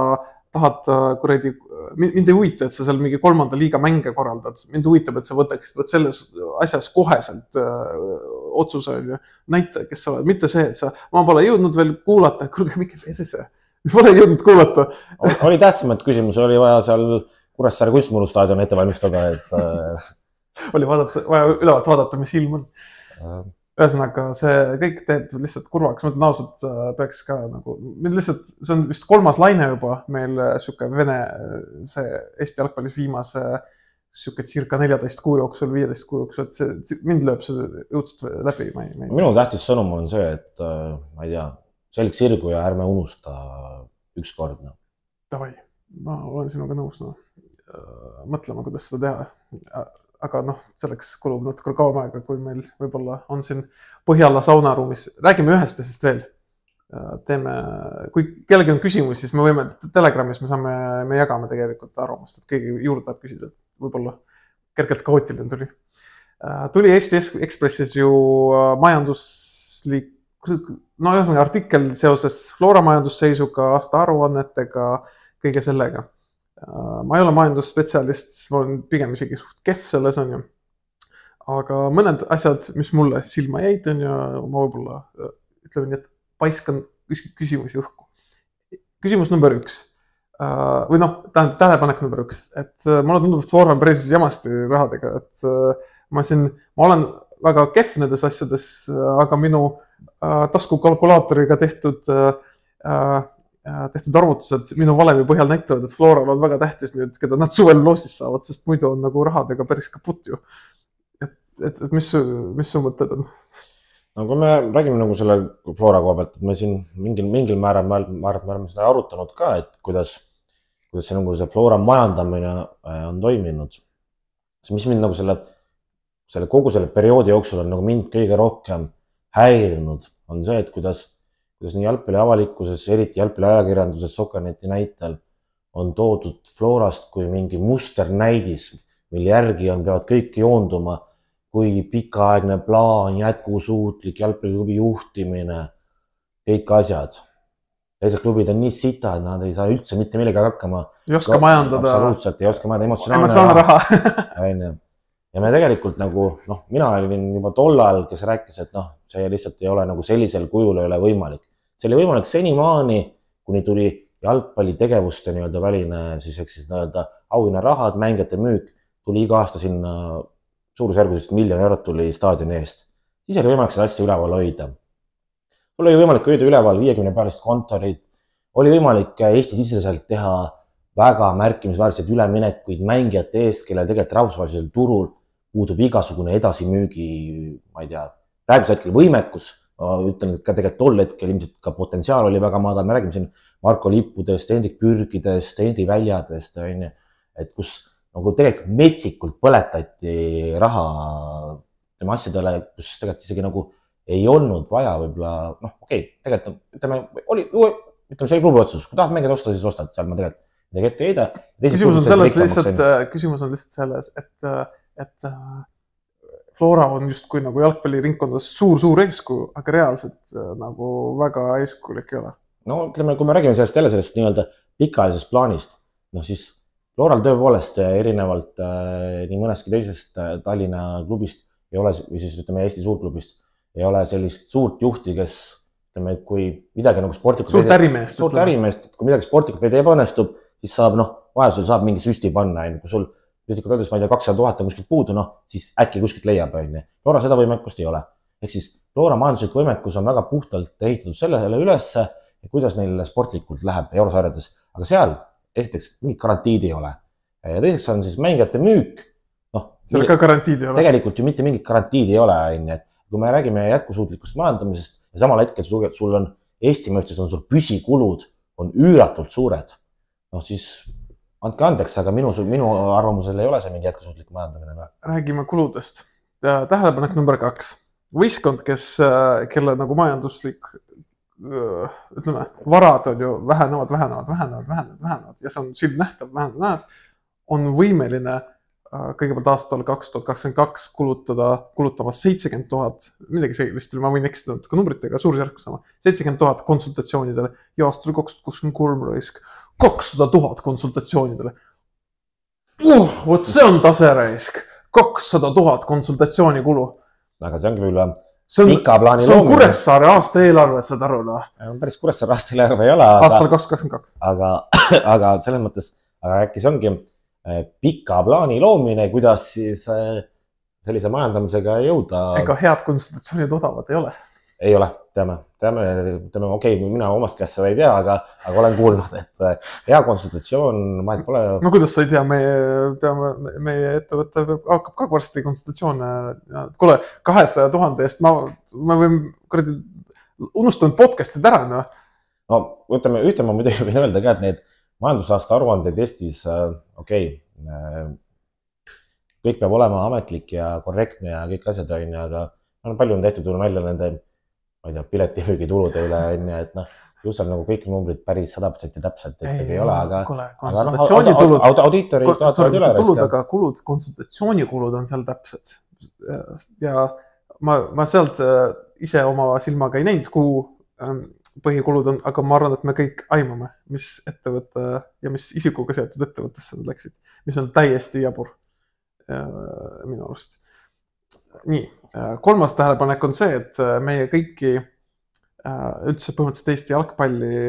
tahad kuradi, mind ei huvita, et sa seal mingi kolmanda liiga mänge korraldad. Mind huvitab, et sa võtaksid võt selles asjas koheselt öö, otsuse näita, kes sa oled. Mitte see, et sa, ma pole jõudnud veel kuulata, kuulge, mingi perse. Pole jõudnud kuulata. Oli tähtsamat küsimus, oli vaja seal Kuressaare Kunstmuru staadion ette valmistada, et... oli vaadata, vaja ülevalt vaadata, mis ilm on. Ühesõnaga, see kõik teeb lihtsalt kurvaks. Ma ütlen ausalt, peaks ka nagu... Lihtsalt, see on vist kolmas laine juba meil siuke Vene, see Eesti jalgpallis viimase siuke circa neljateist kuu jooksul, viieteist kuu jooksul, et see, mind lööb see õudselt läbi. Ma ei, ma ei... Minu tähtis sõnum on see, et ma ei tea, selg sirgu ja ärme unusta üks kord. No. Davai, ma olen sinuga nõus. No. Mõtlema, kuidas seda teha. Aga noh, selleks kulub natuke kauem aega, kui meil võib-olla on siin Põhjala saunaruumis. Räägime ühest asjast veel. Teeme, kui kellegi on küsimus, siis me võime Telegramis, me saame, me jagame tegelikult arvamust, et keegi juurde tahab küsida. Võib-olla kergelt kaootiline tuli. Tuli Eesti Ekspressis ju majanduslik no ühesõnaga artikkel seoses Flora majandusseisuga, aasta aruannetega, kõige sellega. Ma ei ole majandusspetsialist, ma olen pigem isegi suht kehv selles on ju. Aga mõned asjad, mis mulle silma jäid on ja ma võib-olla ütleme nii, et paiskan küsimusi õhku. Küsimus number üks. Või noh, tähelepanek number üks. Et mulle tundub, et Flora on päris jamasti rahadega. Et ma, siin, ma olen väga kehv nendes asjades, aga minu taskukalkulaatoriga tehtud, tehtud arvutused minu valemi põhjal näitavad, et Floral on väga tähtis nüüd, keda nad suvel loosis saavad, sest muidu on nagu rahadega päris kaput ju. Et, et, et mis, mis su mõtted on? No kui me räägime nagu selle Flora koha pealt, et me siin mingil, mingil määral me, me oleme seda arutanud ka, et kuidas, kuidas see, nagu see Flora majandamine on toiminud. See, mis mind nagu selle, selle kogu selle perioodi jooksul on nagu mind kõige rohkem häirinud, on see, et kuidas, kuidas nii jalgpalli avalikkuses, eriti jalgpalli ajakirjanduses, Sokkerneti näitel on toodud Florast kui mingi musternäidis, mille järgi on, peavad kõik joonduma, kui pikaaegne plaan, jätkusuutlik jalgpalliklubi juhtimine, kõik asjad. Teised klubid on nii sita, et nad ei saa üldse mitte millega hakkama. Ei oska majandada. Absoluutselt, ei oska majandada emotsionaalne raha. Ja me tegelikult nagu, noh, mina olin juba tollal, kes rääkis, et noh, see lihtsalt ei ole nagu sellisel kujul ei ole võimalik. See oli võimalik senimaani, kuni tuli jalgpalli tegevuste nii-öelda väline, siis eks siis nii-öelda auhinna rahad, mängijate müük, tuli iga aasta sinna suurusjärgusest miljon eurot tuli staadioni eest. Siis oli võimalik seda asja üleval hoida. Oli võimalik hoida üleval viiekümne pealist kontorid, oli võimalik Eesti-siseselt teha väga märkimisväärseid üleminekuid mängijate eest, kellel tegelikult rahvusvahelisel turul puudub igasugune edasimüügi, ma ei tea, praegusel hetkel võimekus, ma ütlen, et ka tegelikult tol hetkel ilmselt ka potentsiaal oli väga madal, me räägime siin Marko Lippudest, Hendrik Pürgidest, Henri Väljadest, et kus nagu tegelikult metsikult põletati raha tema asjadele, kus tegelikult isegi nagu ei olnud vaja võib-olla, noh, okei, okay, tegelikult, ütleme, oli, ütleme, see oli klubi otsus, kui tahad mängida osta, siis ostad, seal ma tegelikult midagi ette ei heida. Küsimus on selles lihtsalt, küsimus on lihtsalt selles, et, et Flora on just kui nagu jalgpalliringkondas suur-suur eeskuju, aga reaalselt nagu väga eeskujulik ei ole. No ütleme, kui me räägime sellest jälle sellest nii-öelda pikaajalisest plaanist, noh siis Floral tõepoolest erinevalt nii mõneski teisest Tallinna klubist ei ole, või siis ütleme Eesti suurklubist, ei ole sellist suurt juhti, kes, ütleme, et kui midagi nagu sportlikult suurt ärimeest, suurt ärimeest, kui midagi sportlikult veidi ebaõnnestub, siis saab, noh, vajadusel saab mingi süsti panna, kui sul piltlikult öeldes, ma ei tea, kakssada tuhat on kuskilt puudu, noh, siis äkki kuskilt leiab, on ju. Loora seda võimekust ei ole. Ehk siis Loora majanduslik võimekus on väga puhtalt ehitatud sellele ülesse, kuidas neil sportlikult läheb eurosarjades. Aga seal, esiteks, mingit garantiid ei ole. Ja teiseks on siis mängijate müük. No, seal ka garantiid ei ole. Tegelikult ju mitte mingit garantiid ei ole, on ju. Kui me räägime jätkusuutlikust majandamisest ja samal hetkel sul on Eesti mõistes on sul püsikulud on üüratult suured, noh siis andke andeks, aga minu, minu arvamusel ei ole see mingi jätkusuutlik majandamine. Räägime kuludest. Tähelepanek number kaks. Võistkond, kes, kelle nagu majanduslik, ütleme, varad on ju vähenevad, vähenevad, vähenevad, vähenevad, vähenevad ja see on silmnähtav, vähenevad, on võimeline kõigepealt aastal kaks tuhat kakskümmend kaks kulutada, kulutama seitsekümmend tuhat, midagi sellist, ma võin eksida natuke numbritega, suurusjärk sama, seitsekümmend tuhat konsultatsioonidele ja aastal kaks tuhat kakskümmend kolm raisk, kakssada tuhat konsultatsioonidele. Uh, võt see on tase raisk, kakssada tuhat konsultatsiooni kulu. Aga see ongi võib-olla pika plaani loomine. See on Kuressaare aasta eelarve, saad aru, noh. Päris Kuressaare aasta eelarve ei ole. Aastal kaks tuhat kakskümmend kaks. Aga, aga selles mõttes, aga äkki see ongi pika plaani loomine, kuidas siis sellise majandamisega jõuda. Ega head konsultatsioonid odavad ei ole. Ei ole, teame, teame, teame, okei, okay, mina omast käest seda ei tea, aga, aga olen kuulnud, et hea konsultatsioon, ma et pole... No kuidas sa ei tea, meie, peame, meie ettevõtte hakkab ka varsti konsultatsioone. Kule, kahesaja tuhande eest ma, ma võin kuradi unustanud podcastid ära, no. No, ütleme, ütleme, ma muidugi võin öelda ka, et need majandusaasta aruanded Eestis, okei, okay, kõik peab olema ametlik ja korrektne ja kõik asjad on, aga palju on tehtud välja nende, ma ei tea, piletimüügitulude üle, et noh, just on nagu kõik numbrid päris sada protsenti täpselt ikkagi ei ole, aga, aga no, audiitorid tahtavad üle tulud, aga kulud, konsultatsioonikulud on seal täpsed. Ja ma, ma sealt ise oma silmaga ei näinud, kuhu põhikulud on, aga ma arvan, et me kõik aimame, mis ettevõtte ja mis isikuga seotud ettevõttesse nad läksid, mis on täiesti jabur minu arust. Nii, kolmas tähelepanek on see, et meie kõiki üldse põhimõtteliselt Eesti jalgpalli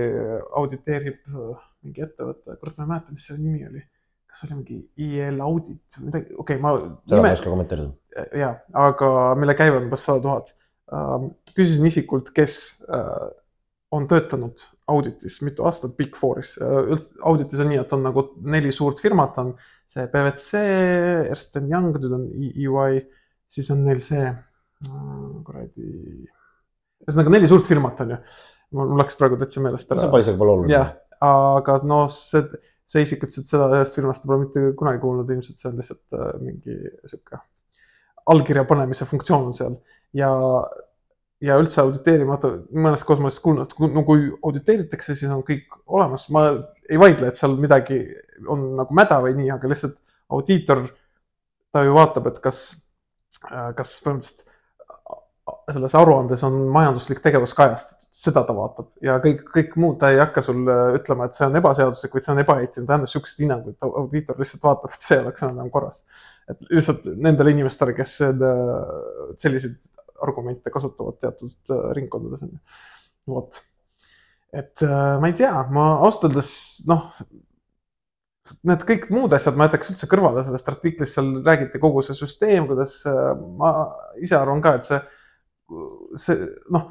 auditeerib mingi ettevõtte, kurat ma ei mäleta, mis selle nimi oli. Kas oli mingi I L audit? Okei, okay, ma... Seda ma ei oska kommenteerida. Jaa, aga mille käivad umbes sada tuhat. Küsisin isikult, kes on töötanud auditis mitu aastat Big Fouris. Auditis on nii, et on nagu neli suurt firmat, on see P V C, Ernst and Young, nüüd on E Y, siis on neil see, kuradi, ühesõnaga neli suurt firmat on ju. Mul läks praegu täitsa meelest ära. See pole isegi pole oluline. Jah, aga no see, see isik ütles, et seda ühest firmast pole mitte kunagi kuulnud, ilmselt see on lihtsalt mingi sükke allkirja panemise funktsioon on seal ja ja üldse auditeerimata, mõnes kohas ma olen kuulnud, et no kui auditeeritakse, siis on kõik olemas. Ma ei vaidle, et seal midagi on nagu mäda või nii, aga lihtsalt audiitor, ta ju vaatab, et kas, kas põhimõtteliselt selles aruandes on majanduslik tegevus kajastatud. Seda ta vaatab ja kõik, kõik muud ta ei hakka sulle ütlema, et see on ebaseaduslik või see on ebaeetiline. Ta andas siuksed hinnangud, et audiitor lihtsalt vaatab, et see oleks enam korras. Et lihtsalt nendele inimestele, kes sellised argumente kasutavad teatud ringkondades. Vot. Et ma ei tea, ma austades, noh, need kõik muud asjad ma jätaks üldse kõrvale sellest artiklis, seal räägiti kogu see süsteem, kuidas ma ise arvan ka, et see, see noh,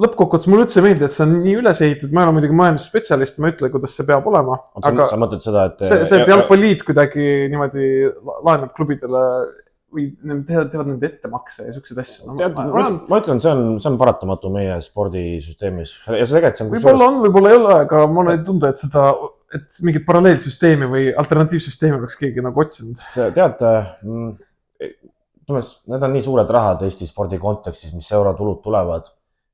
lõppkokkuvõttes mulle üldse meeldi, et see on nii üles ehitatud, ma ei ole muidugi majandusspetsialist, ma ei ütle, kuidas see peab olema. Aga sa mõtled seda, et... See, see, et jalgpalliit kuidagi niimoodi laenab klubidele või teevad, teevad nende ettemakse ja sellised asju. No, Tead, ma, ma, ma ütlen, see on, see on paratamatu meie spordisüsteemis. Ja see tegelikult see on... Võib-olla on, võib-olla ei ole, aga mulle ei tundu, et seda, et mingit paralleelsüsteemi või alternatiivsüsteemi oleks keegi nagu otsinud. Tead, need on nii suured rahad Eesti spordi kontekstis, mis eurotulud tulevad,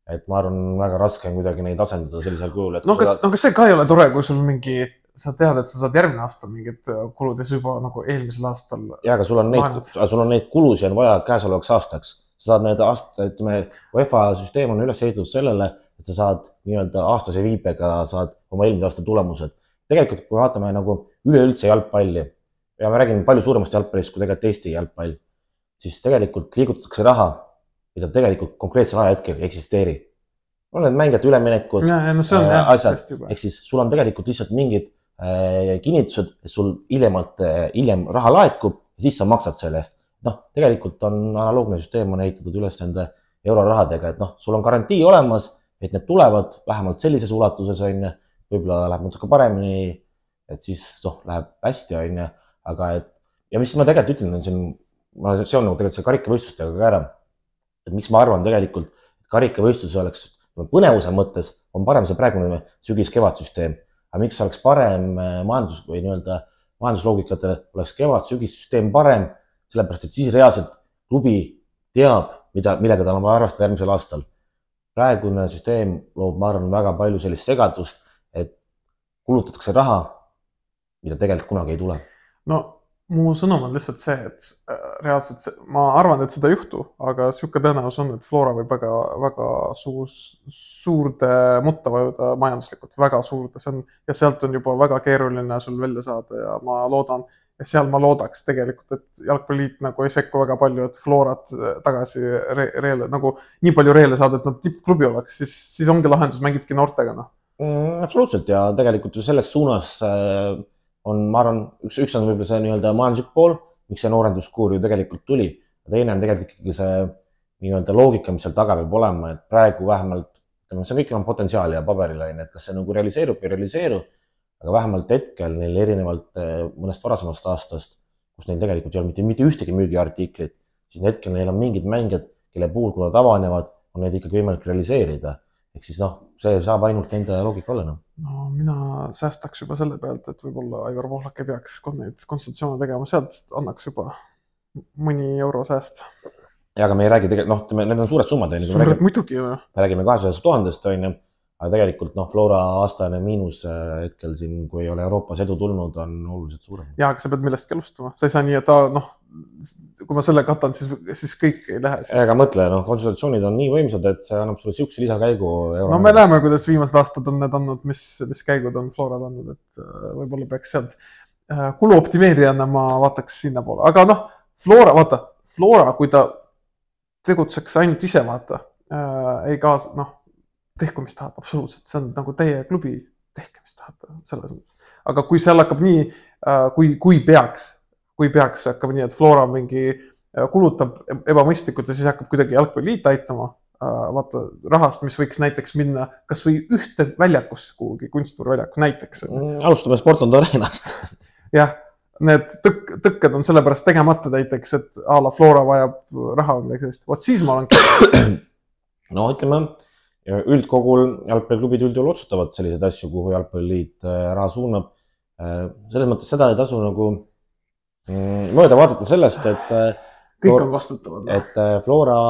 et ma arvan, väga raske on kuidagi neid asendada sellisel kujul. No kas, seda... no kas see ka ei ole tore, kui sul mingi... Sa tead, et sa saad järgmine aastal mingid kulud ja juba nagu eelmisel aastal... Ja, aga sul on neid, sul on neid kulusi on vaja käesolevaks aastaks. Sa saad need aasta, ütleme, UEFA süsteem on üles ehitatud sellele, et sa saad nii-öelda aastase viibega saad oma eelmise aasta tulemused. Tegelikult, kui vaatame nagu üleüldse jalgpalli ja ma räägin palju suuremast jalgpallist kui tegelikult Eesti jalgpall, siis tegelikult liigutatakse raha, mida tegelikult konkreetsel ajahetkel ei eksisteeri. on need mängijate üleminekud, ja, no see on, jah, asjad, ehk siis sul on tegelikult lihtsalt mingid äh, kinnitused, et sul hiljemalt, hiljem raha laekub ja siis sa maksad selle eest. Noh, tegelikult on analoogne süsteem on ehitatud üles nende eurorahadega, et noh, sul on garantii olemas, et need tulevad vähemalt sellises ulatuses, on ju, võib-olla läheb natuke paremini, et siis noh, läheb hästi, on ju, aga et ja mis ma tegelikult ütlen, on siin, ma seon nagu tegelikult see karikavõistlustega ka ära, et miks ma arvan tegelikult, et karikavõistlus oleks põnevuse mõttes on parem see praegune sügis-kevadsüsteem, aga miks oleks parem majandus või nii-öelda majandusloogikatel oleks kevad-sügissüsteem parem, sellepärast et siis reaalselt klubi teab, mida, millega tal on vaja arvestada järgmisel aastal. Praegune süsteem loob, ma arvan, väga palju sellist segadust, et kulutatakse raha, mida tegelikult kunagi ei tule. No mu sõnum on lihtsalt see, et reaalselt see, ma arvan, et seda ei juhtu, aga siuke tõenäosus on, et Flora võib väga, väga suur, suurde mutta vajuda majanduslikult, väga suurde, see on, ja sealt on juba väga keeruline sul välja saada ja ma loodan, ja seal ma loodaks tegelikult, et jalgpalliliit nagu ei sekku väga palju, et Florat tagasi re, reele, nagu nii palju reele saada, et nad tippklubi oleks, siis, siis ongi lahendus, mängidki noortega, noh. Mm, absoluutselt ja tegelikult ju selles suunas äh... on, ma arvan, üks, üks on võib-olla see nii-öelda majanduslik pool, miks see noorenduskuur ju tegelikult tuli. Teine on tegelikult ikkagi see nii-öelda loogika, mis seal taga peab olema, et praegu vähemalt, see kõik on potentsiaali ja paberile, et kas see nagu realiseerub või realiseeru, aga vähemalt hetkel neil erinevalt mõnest varasemast aastast, kus neil tegelikult ei ole mitte, mitte ühtegi müügiartiklit, siis hetkel neil on mingid mängijad, kelle puhul, kui nad avanevad, on neid ikkagi võimalik realiseerida. Ehk siis noh, see saab ainult nende loogika olla. No, no mina säästaks juba selle pealt, et võib-olla Aivar Pohlak ei peaks neid konsultatsioone tegema, sealt annaks juba mõni euro sääst. Ja, aga me ei räägi tegelikult, noh, need on suured summad. Suured muidugi. Me räägime kahesaja tuhandest, on ju, aga tegelikult noh, Flora aastane miinus hetkel siin, kui ei ole Euroopas edu tulnud, on oluliselt suurem. Ja, aga sa pead millestki alustama. Sa ei saa nii, et ta, noh, kui ma selle katan, siis, siis kõik ei lähe. Siis... Ega mõtle, noh, konsultatsioonid on nii võimsad, et see annab sulle siukse lisakäigu. No me näeme, kuidas viimased aastad on need andnud, mis, mis käigud on Floral andnud, et võib-olla peaks sealt kuluoptimeerijana ma vaataks sinna poole. Aga noh, Flora, vaata, Flora, kui ta tegutseks ainult ise, vaata, ei kaas, noh, tehku, mis tahab, absoluutselt. See on nagu teie klubi, tehke, mis tahab selles mõttes. Aga kui seal hakkab nii, kui, kui peaks, kui peaks hakkab nii, et Flora mingi kulutab ebamõistlikult ja siis hakkab kuidagi jalgpalliliit aitama, vaata rahast, mis võiks näiteks minna kas või ühte väljakusse kuhugi, kunstmurväljaku näiteks. Alustame Sportland Arenast. Jah, need tõk, tõkked on sellepärast tegemata näiteks, et a la Flora vajab raha või midagi sellist. Vot siis ma olen... No ütleme, üldkogul jalgpalliklubid üldjuhul otsustavad selliseid asju, kuhu jalgpalliliit raha suunab. Selles mõttes seda ei tasu nagu mööda vaadata sellest, et kõik on vastutavad. Et Flora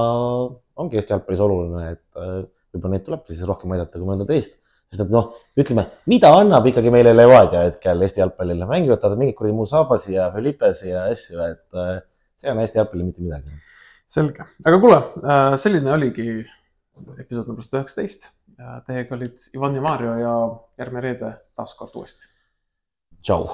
ongi Eesti jalgpallis oluline, et võib-olla neid tulebki siis rohkem aidata kui mõnda teist. Sest et noh, ütleme, mida annab ikkagi meile Levadia hetkel Eesti jalgpallile? Mängivad ta mingid kuri Musabasi ja Felipesi ja asju, et see on Eesti jalgpalli mitte midagi. Selge. Aga kuule, selline oligi episood number sada üheksateist. Teiega olid Ivan ja Mario ja järgmine reede taas kord uuesti. Tšau!